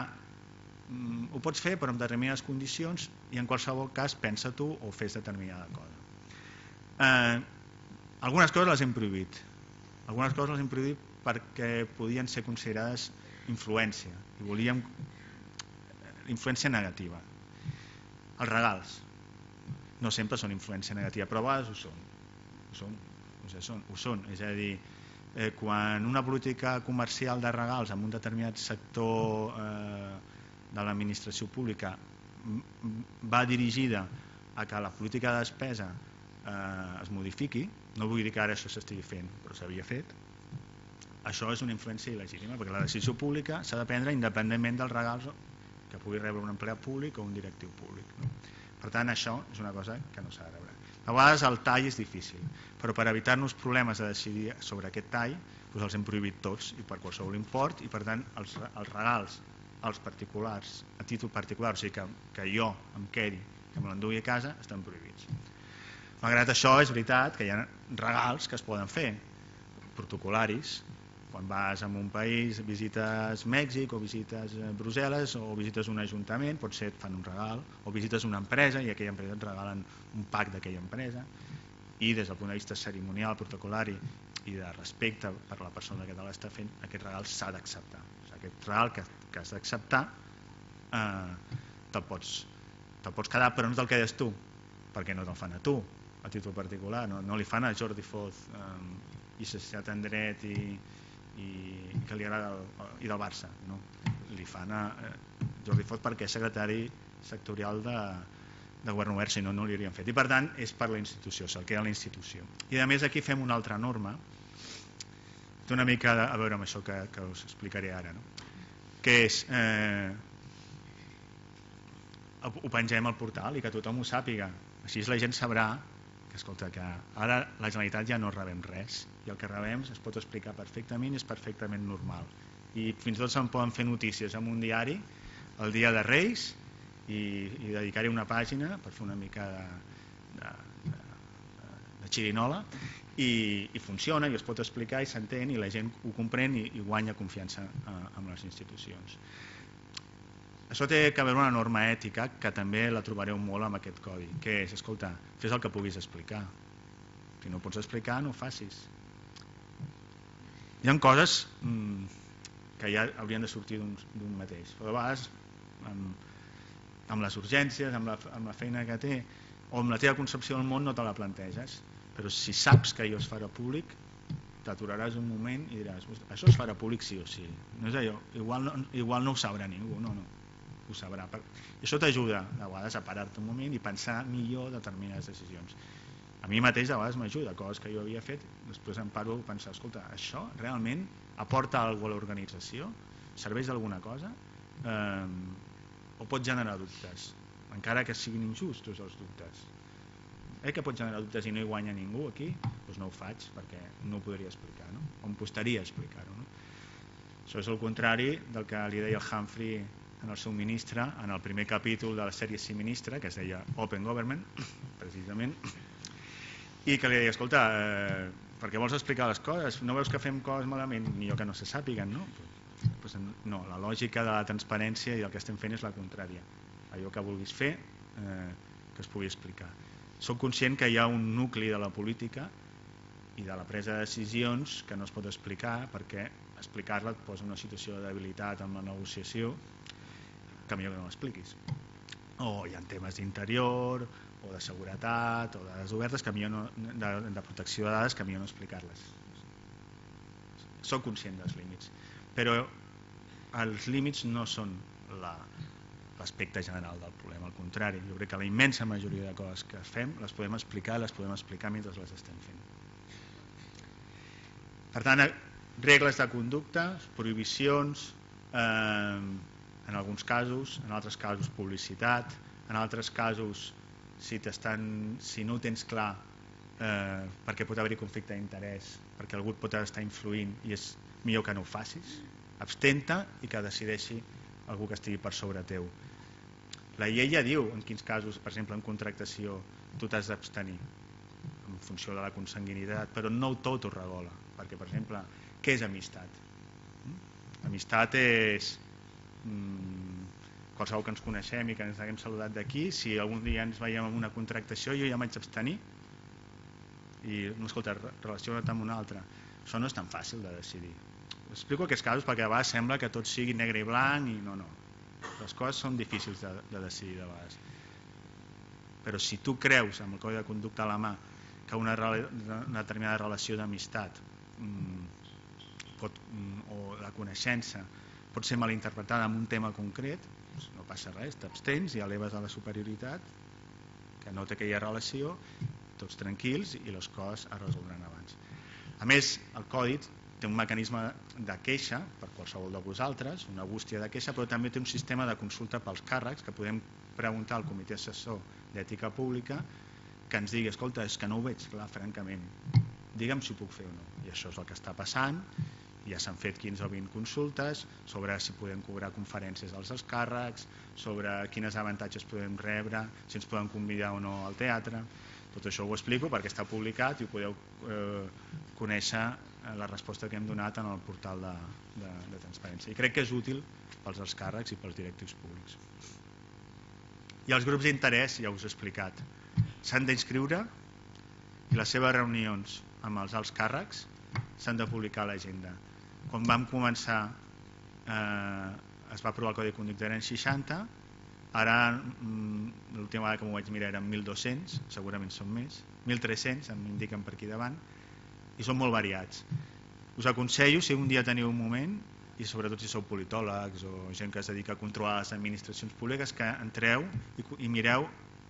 mm, ho pots fer però en determinades condicions i en qualsevol cas pensa tu o fes determinada cosa. Eh, algunes coses les hem prohibit, algunes coses les hem prohibit perquè podien ser considerades influència i volíem influència negativa. Els regals no sempre són influència negativa, però a vegades ho són, ho són, o sigui, són, ho són. És a dir, eh, quan una política comercial de regals en un determinat sector eh, de l'administració pública va dirigida a que la política de despesa eh, es modifiqui, no vull dir que ara això s'estigui fent, però s'havia fet, això és una influència il·legítima, perquè la decisió pública s'ha de prendre independentment dels regals que pugui rebre un empleat públic o un directiu públic, no? Per tant, això és una cosa que no s'ha de rebre. A vegades el tall és difícil, però per evitar-nos problemes de decidir sobre aquest tall, doncs els hem prohibit tots i per qualsevol import, i per tant els, els regals als particulars, a títol particular, o sigui que, que jo em quedi, que me l'endugui a casa, estan prohibits. Malgrat això, és veritat que hi ha regals que es poden fer, protocolaris. Quan vas a un país, visites Mèxic o visites Brussel·les o visites un ajuntament, potser et fan un regal, o visites una empresa i aquella empresa et regalen un pack d'aquella empresa, i des del punt de vista cerimonial, protocolari i de respecte per la persona que te l'està fent, aquest regal s'ha d'acceptar. O sigui, aquest regal que, que has d'acceptar eh, te'l pots, te pots quedar, però no te'l quedes tu, perquè no te'l fan a tu, a títol particular, no, no li fan a Jordi Foz, eh, llicenciat en dret i i que li agrada el, i del Barça, no? Li fan a eh, Jordi Foz perquè és secretari sectorial de, de Govern Obert, si no, no li haurien fet, i per tant és per la institució, se'l queda la institució. I a més aquí fem una altra norma, té una mica a veure amb això que, que us explicaré ara, no? Que és eh, ho pengem al portal i que tothom ho sàpiga, així la gent sabrà que, escolta, que ara la Generalitat ja no rebem res i el que rebem es pot explicar perfectament i és perfectament normal. I fins i tot se'n poden fer notícies en un diari el dia de Reis i, i dedicar-hi una pàgina per fer una mica de, de, de, de xirinola i, i funciona i es pot explicar i s'entén i la gent ho comprèn i, i guanya confiança eh, en les institucions. Això té que haver una norma ètica que també la trobareu molt amb aquest codi, que és, escolta, fes el que puguis explicar. Si no pots explicar, no ho facis. Hi ha coses mmm, que ja haurien de sortir d'un mateix. Però a vegades, amb, amb les urgències, amb la, amb la feina que té, o amb la teva concepció del món no te la planteges. Però si saps que allò es farà públic, t'aturaràs un moment i diràs, això es farà públic sí o sí. No és allò, igual no, igual no ho sabrà ningú, no, no. Ho sabrà. I això t'ajuda a vegades a parar-te un moment i pensar millor determinades decisions. A mi mateix a vegades m'ajuda, coses que jo havia fet, després em paro a pensar, escolta, això realment aporta alguna cosa a l'organització? serveix d'alguna cosa eh, o pot generar dubtes, encara que siguin injustos els dubtes. Eh que pot generar dubtes i no hi guanya ningú aquí? Doncs no ho faig perquè no ho podria explicar, no? O em costaria explicar-ho. No? Això és el contrari del que li deia el Humphrey en el seu ministre, en el primer capítol de la sèrie Sí Ministre, que es deia Open Government, precisament, i que li deia, escolta, eh, per què vols explicar les coses? No veus que fem coses malament? Ni jo que no se sàpiguen, no? Pues no, la lògica de la transparència i el que estem fent és la contrària. Allò que vulguis fer, eh, que es pugui explicar. Soc conscient que hi ha un nucli de la política i de la presa de decisions que no es pot explicar perquè explicar-la et posa en una situació de debilitat amb la negociació que millor que no l'expliquis. O hi ha temes d'interior, o de seguretat, o de dades obertes, que millor no, de, de protecció de dades, que millor no explicar-les. Soc conscient dels límits, però els límits no són l'aspecte general del problema, al contrari. Jo crec que la immensa majoria de coses que fem les podem explicar, les podem explicar mentre les estem fent. Per tant, regles de conducta, prohibicions, eh, en alguns casos, en altres casos publicitat, en altres casos si, si no ho tens clar eh, perquè pot haver-hi conflicte d'interès, perquè algú et pot estar influint i és millor que no ho facis, abstenta i que decideixi algú que estigui per sobre teu. La llei ja diu en quins casos, per exemple en contractació, tu t'has d'abstenir en funció de la consanguinitat, però no tot ho regola, perquè per exemple, què és amistat? Amistat és qualsevol que ens coneixem i que ens haguem saludat d'aquí, si algun dia ens veiem en una contractació jo ja m'haig d'abstenir i no, escolta, relaciona't amb una altra. Això no és tan fàcil de decidir. Explico aquests casos perquè a vegades sembla que tot sigui negre i blanc i no, no. Les coses són difícils de, de decidir de vegades. Però si tu creus amb el codi de conducta a la mà que una, una determinada relació d'amistat o la coneixença pot ser malinterpretada en un tema concret, no passa res, t'abstens i eleves a la superioritat, que nota que hi ha relació, tots tranquils i les coses es resoldran abans. A més, el codi té un mecanisme de queixa per qualsevol de vosaltres, una bústia de queixa, però també té un sistema de consulta pels càrrecs que podem preguntar al comitè assessor d'ètica pública que ens digui, escolta, és que no ho veig clar, francament, digue'm si ho puc fer o no. I això és el que està passant. Ja s'han fet quinze o vint consultes sobre si podem cobrar conferències als alts càrrecs, sobre quines avantatges podem rebre, si ens poden convidar o no al teatre. Tot això ho explico perquè està publicat i ho podeu eh, conèixer la resposta que hem donat en el portal de, de, de transparència. I crec que és útil pels alts càrrecs i pels directius públics. I els grups d'interès, ja us he explicat, s'han d'inscriure i les seves reunions amb els alts càrrecs s'han de publicar a l'agenda. Quan vam començar eh, es va aprovar el Codi de Conducta, eren seixanta, ara l'última vegada que m'ho vaig mirar eren mil dos-cents, segurament són més, mil tres-cents em indiquen per aquí davant, i són molt variats. Us aconsello, si un dia teniu un moment, i sobretot si sou politòlegs o gent que es dedica a controlar les administracions públiques, que entreu i, i mireu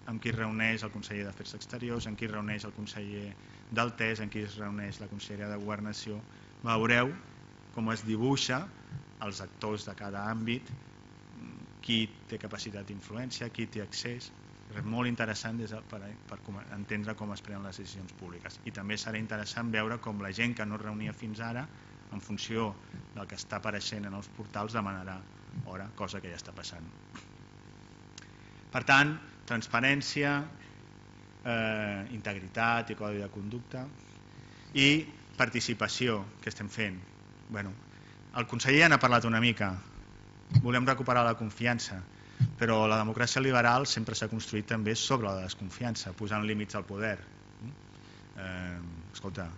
amb qui es reuneix el conseller d'Afers Exteriors, amb qui es reuneix el conseller del T E S, amb qui es reuneix la conselleria de Governació. Veureu com es dibuixa els actors de cada àmbit, qui té capacitat d'influència, qui té accés. És molt interessant des de, per, per entendre com es prenen les decisions públiques. I també serà interessant veure com la gent que no es reunia fins ara, en funció del que està apareixent en els portals, demanarà hora, cosa que ja està passant. Per tant, transparència, eh, integritat i codi de conducta i participació que estem fent. Bueno, el conseller ja n'ha parlat una mica. Volem recuperar la confiança, però la democràcia liberal sempre s'ha construït també sobre la desconfiança, posant límits al poder. Eh, escolta,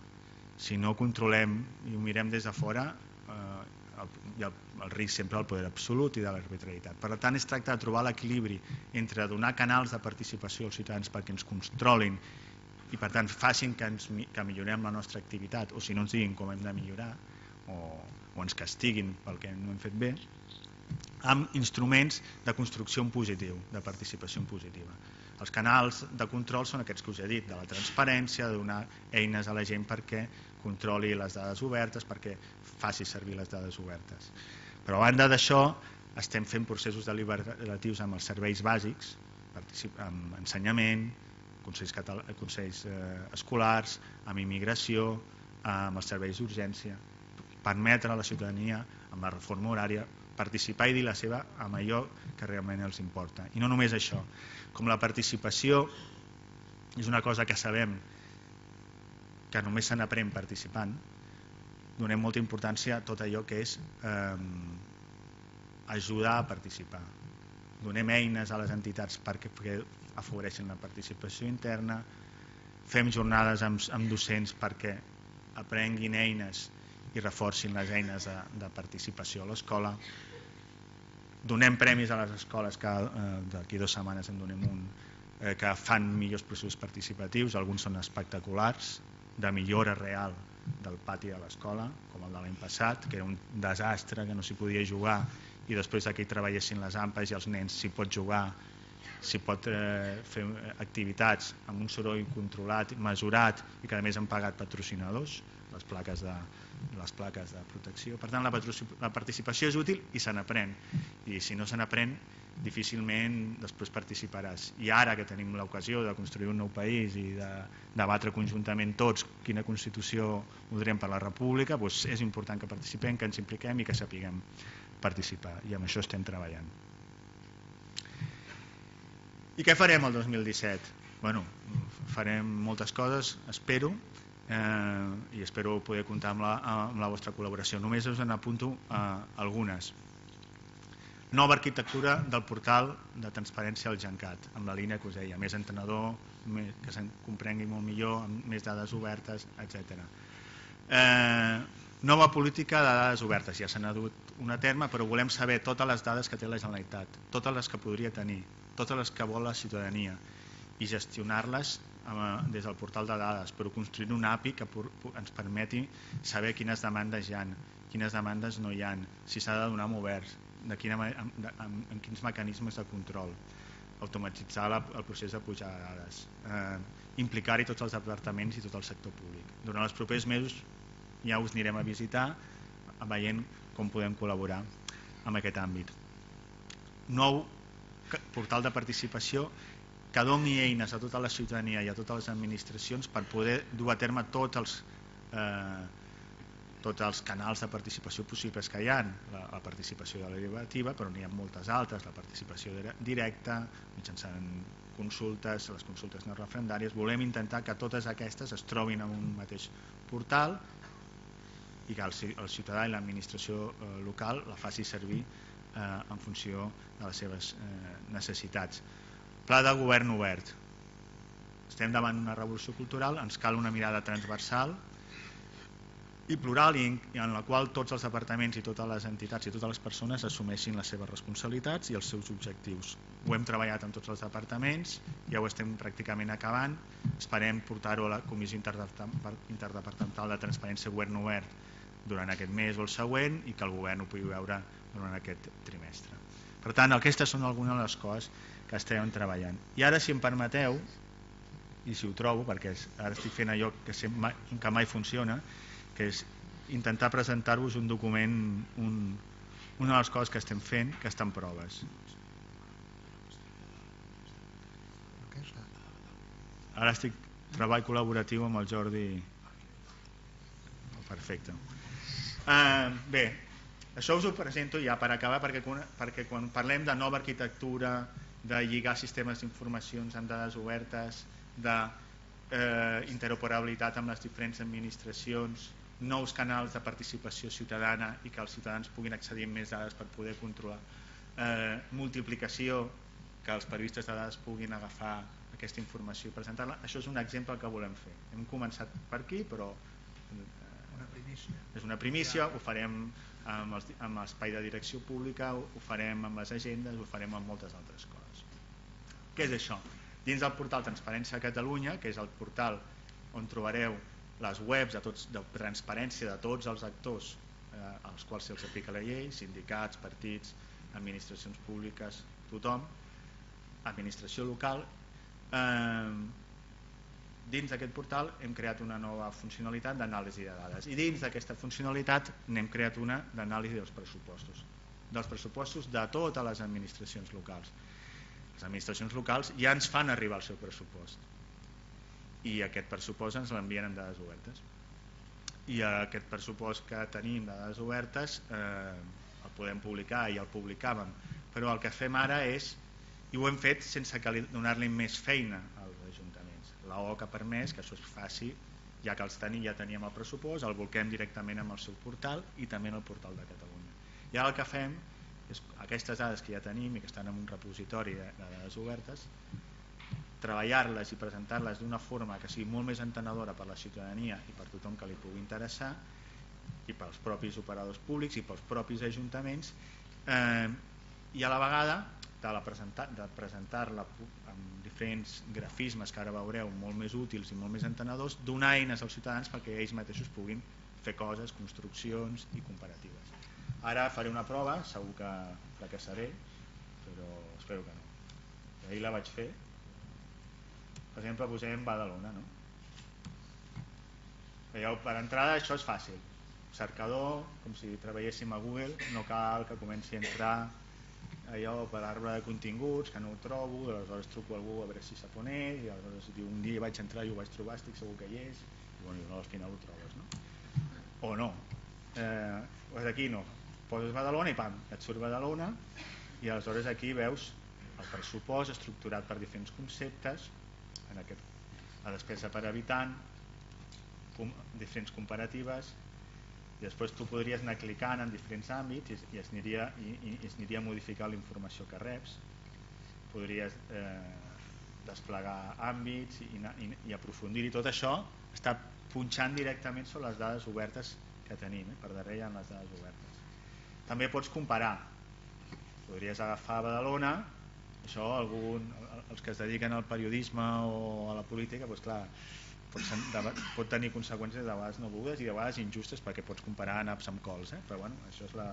si no controlem i ho mirem des de fora, eh, el, hi ha el risc sempre del poder absolut i de l'arbitrarietat. Per tant, es tracta de trobar l'equilibri entre donar canals de participació als ciutadans perquè ens controlin i per tant facin que, ens, que millorem la nostra activitat, o si no ens diguin com hem de millorar, o, o ens castiguin pel que no hem fet bé, amb instruments de construcció en positiu, de participació en positiva. Els canals de control són aquests que us he dit, de la transparència, de donar eines a la gent perquè controli les dades obertes, perquè faci servir les dades obertes. Però a banda d'això estem fent processos deliberatius amb els serveis bàsics, amb ensenyament, consells, consells eh, escolars, amb immigració, amb els serveis d'urgència, permetre a la ciutadania, amb la reforma horària, participar i dir la seva amb allò que realment els importa. I no només això, com la participació és una cosa que sabem que només se n'aprèn participant, donem molta importància a tot allò que és eh, ajudar a participar. Donem eines a les entitats perquè afavoreixin la participació interna, fem jornades amb, amb docents perquè aprenguin eines i reforcin les eines de, de participació a l'escola. Donem premis a les escoles, que eh, d'aquí dues setmanes en donem un, eh, que fan millors processos participatius, alguns són espectaculars, de millora real del pati de l'escola, com el de l'any passat, que era un desastre, que no s'hi podia jugar, i després que hi treballessin les ampes i els nens s'hi pot jugar, s'hi pot eh, fer activitats amb un soroll controlat, mesurat, i que a més han pagat patrocinadors, les plaques de, les plaques de protecció. Per tant, la, la participació és útil i se n'aprèn, i si no se n'aprèn difícilment després participaràs. I ara que tenim l'ocasió de construir un nou país i de debatre conjuntament tots quina Constitució voldríem per la República, doncs és important que participem, que ens impliquem i que sapiguem participar, i amb això estem treballant. I què farem el dos mil disset? Bueno, farem moltes coses, espero, eh, i espero poder comptar amb la, amb la vostra col·laboració. Només us en apunto eh, algunes. Nova arquitectura del portal de transparència al Gencat, amb la línia que us deia, més entenedor, més, que se'n comprengui molt millor, amb més dades obertes, etcètera. Eh, nova política de dades obertes, ja se n'ha dut una terme, però volem saber totes les dades que té la Generalitat, totes les que podria tenir, totes les que vol la ciutadania, i gestionar-les des del portal de dades, però construir una A P I que ens permeti saber quines demandes hi ha, quines demandes no hi ha, si s'ha de donar amb oberts, de quina, en, en, en quins mecanismes de control, automatitzar la, el procés de pujar de dades, eh, implicar-hi tots els departaments i tot el sector públic. Durant els propers mesos ja us anirem a visitar veient com podem col·laborar en aquest àmbit. Nou portal de participació que doni eines a tota la ciutadania i a totes les administracions per poder dur a terme tots els eh, tots els canals de participació possibles que hi ha, la, la participació deliberativa, però n'hi ha moltes altres, la participació directa, mitjançant consultes, les consultes no referendàries. Volem intentar que totes aquestes es trobin en un mateix portal i que el, el ciutadà i l'administració eh, local la faci servir eh, en funció de les seves eh, necessitats. Pla de govern obert. Estem davant una revolució cultural, ens cal una mirada transversal i plural, i en la qual tots els departaments i totes les entitats i totes les persones assumeixin les seves responsabilitats i els seus objectius. Ho hem treballat amb tots els departaments, ja ho estem pràcticament acabant, esperem portar-ho a la Comissió Interdepartamental de Transparència Govern Obert durant aquest mes o el següent i que el govern ho pugui veure durant aquest trimestre. Per tant, aquestes són algunes de les coses que estem treballant. I ara, si em permeteu, i si ho trobo, perquè ara estic fent allò que, mai, que mai funciona, que és intentar presentar-vos un document, un, una de les coses que estem fent, que està en proves. Ara estic treball col·laboratiu amb el Jordi. Perfecte. Uh, bé, això us ho presento ja per acabar, perquè, perquè quan parlem de nova arquitectura, de lligar sistemes d'informacions amb dades obertes, d'interoperabilitat amb les diferents administracions, nous canals de participació ciutadana i que els ciutadans puguin accedir a més dades per poder controlar, eh, multiplicació, que els periodistes de dades puguin agafar aquesta informació i presentar-la. Això és un exemple que volem fer. Hem començat per aquí, però una primícia. És una primícia, ho farem amb l'espai de direcció pública, ho farem amb les agendes, ho farem amb moltes altres coses. Què és això? Dins del portal Transparència a Catalunya, que és el portal on trobareu les webs de, tots, de transparència de tots els actors eh, als quals se'ls aplica la llei, sindicats, partits, administracions públiques, tothom, administració local. Eh, dins d'aquest portal hem creat una nova funcionalitat d'anàlisi de dades i dins d'aquesta funcionalitat n'hem creat una d'anàlisi dels pressupostos. dels pressupostos de totes les administracions locals. Les administracions locals ja ens fan arribar el seu pressupost i aquest pressupost ens l'envien amb dades obertes. I aquest pressupost que tenim de dades obertes eh, el podem publicar i el publicàvem, però el que fem ara és, i ho hem fet sense donar-li més feina als ajuntaments. La O que ha permès que això es faci, ja que els tenim, ja teníem el pressupost, el volquem directament amb el seu portal i també en el portal de Catalunya. I ara el que fem és aquestes dades que ja tenim i que estan en un repositori de dades obertes, treballar-les i presentar-les d'una forma que sigui molt més entenedora per la ciutadania i per tothom que li pugui interessar i pels propis operadors públics i pels propis ajuntaments eh, i a la vegada de, la presentar, de presentar-la amb diferents grafismes que ara veureu molt més útils i molt més entenedors, donar eines als ciutadans perquè ells mateixos puguin fer coses, construccions i comparatives. Ara faré una prova, segur que fracassaré, però espero que no. Ahir la vaig fer. Per exemple, posem Badalona, no? Veieu, per entrada això és fàcil. Cercador, com si treballéssim a Google, no cal que comenci a entrar allò per l'arbre de continguts, que no ho trobo, aleshores truco a algú a veure si sap on és, i aleshores diu, un dia vaig entrar i ho vaig trobar, estic segur que hi és, i bueno, al final ho trobes, no? O no. Eh, doncs aquí no. Poses Badalona i pam, et surt Badalona, i aleshores aquí veus el pressupost estructurat per diferents conceptes, en aquest, la despesa per habitant, com, diferents comparatives, i després tu podries anar clicant en diferents àmbits i, i, es, aniria, i, i es aniria a modificar la informació que reps, podries eh, desplegar àmbits i, i, i aprofundir-hi. Tot això està punxant directament sobre les dades obertes que tenim, eh? Per darrere hi ha les dades obertes. També pots comparar, podries agafar Badalona, això algun, els que es dediquen al periodisme o a la política, doncs clar, pot, pot tenir conseqüències de vegades no volgudes i de vegades injustes perquè pots comparar naps amb cols, eh? Però bueno, això és la,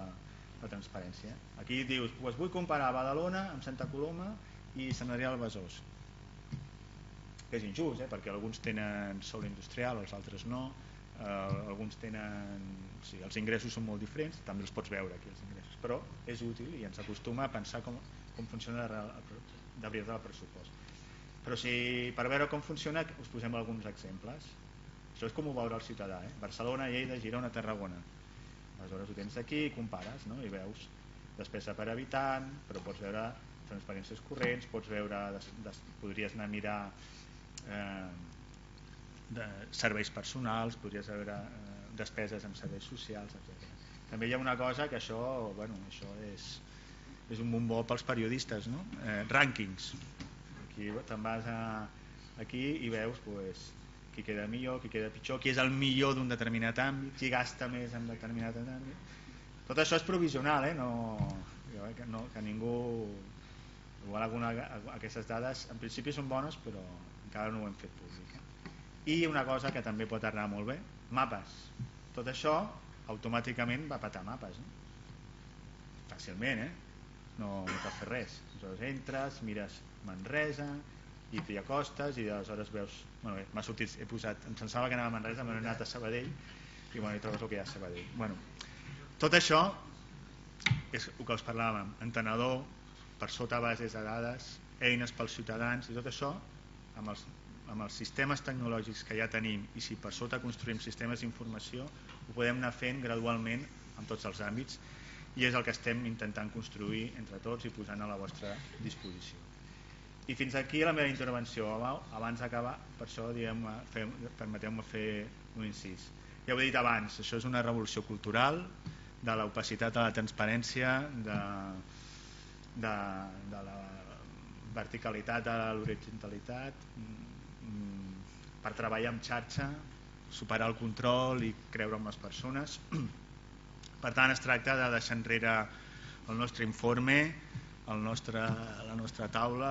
la transparència. Aquí dius, pues vull comparar Badalona amb Santa Coloma i Sant Adrià del Besòs, que és injust, eh? Perquè alguns tenen sòl industrial, els altres no, eh, alguns tenen, o sigui, els ingressos són molt diferents, també els pots veure aquí els ingressos, però és útil i ens acostuma a pensar com com funciona de veritat el pressupost. Però si per veure com funciona us posem alguns exemples. Això és com ho veurà el ciutadà, eh? Barcelona, Lleida, Girona, Tarragona. Aleshores ho tens aquí i compares, no? I veus despesa per habitant, però pots veure transparències corrents, pots veure, des, des, podries anar a mirar eh, de serveis personals, podries veure eh, despeses en serveis socials, etcètera. També hi ha una cosa que això, bueno, això és és un bombó pels periodistes, no? Eh, rànquings. Aquí te'n vas a, aquí i veus pues, qui queda millor, qui queda pitjor, qui és el millor d'un determinat àmbit, qui gasta més en determinat àmbit. Tot això és provisional, eh? No, que, no, que ningú... Igual alguna, aquestes dades en principi són bones, però encara no ho hem fet públic. Eh? I una cosa que també pot anar molt bé, mapes. Tot això automàticament va petar mapes. Eh? Fàcilment, eh? No, no cal fer res. Aleshores entres, mires Manresa i t'hi acostes i aleshores veus, bueno, m'ha sortit, he posat, em pensava que anava a Manresa, m'he anat a Sabadell i bueno, hi trobes el que hi ha a Sabadell. Bueno, tot això és el que us parlàvem, entenedor, per sota bases de dades, eines pels ciutadans i tot això amb els, amb els sistemes tecnològics que ja tenim i si per sota construïm sistemes d'informació ho podem anar fent gradualment en tots els àmbits i és el que estem intentant construir entre tots i posant a la vostra disposició. I fins aquí la meva intervenció. Abans d'acabar, per això permeteu-me fer un incís. Ja ho he dit abans, això és una revolució cultural de l'opacitat a la transparència, de, de, de la verticalitat a l'horitzontalitat, per treballar en xarxa, superar el control i creure en les persones. Per tant, es tracta de deixar enrere el nostre informe, el nostre, la nostra taula,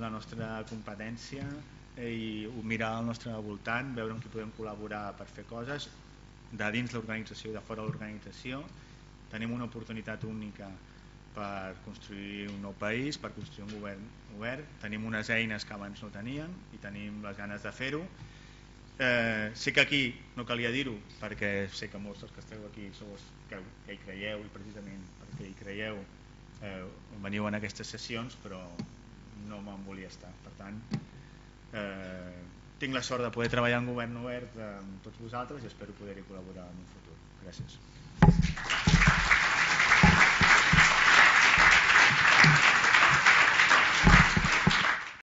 la nostra competència i mirar al nostre voltant, veure amb qui podem col·laborar per fer coses de dins l'organització i de fora de l'organització. Tenim una oportunitat única per construir un nou país, per construir un govern obert. Tenim unes eines que abans no teníem i tenim les ganes de fer-ho Eh, sé que aquí no calia dir-ho, perquè sé que molts dels que esteu aquí sou els que, que hi creieu, i precisament perquè hi creieu eh, veniu en aquestes sessions, però no me'n volia estar. Per tant, eh, tinc la sort de poder treballar en govern obert amb tots vosaltres i espero poder-hi col·laborar en un futur. Gràcies.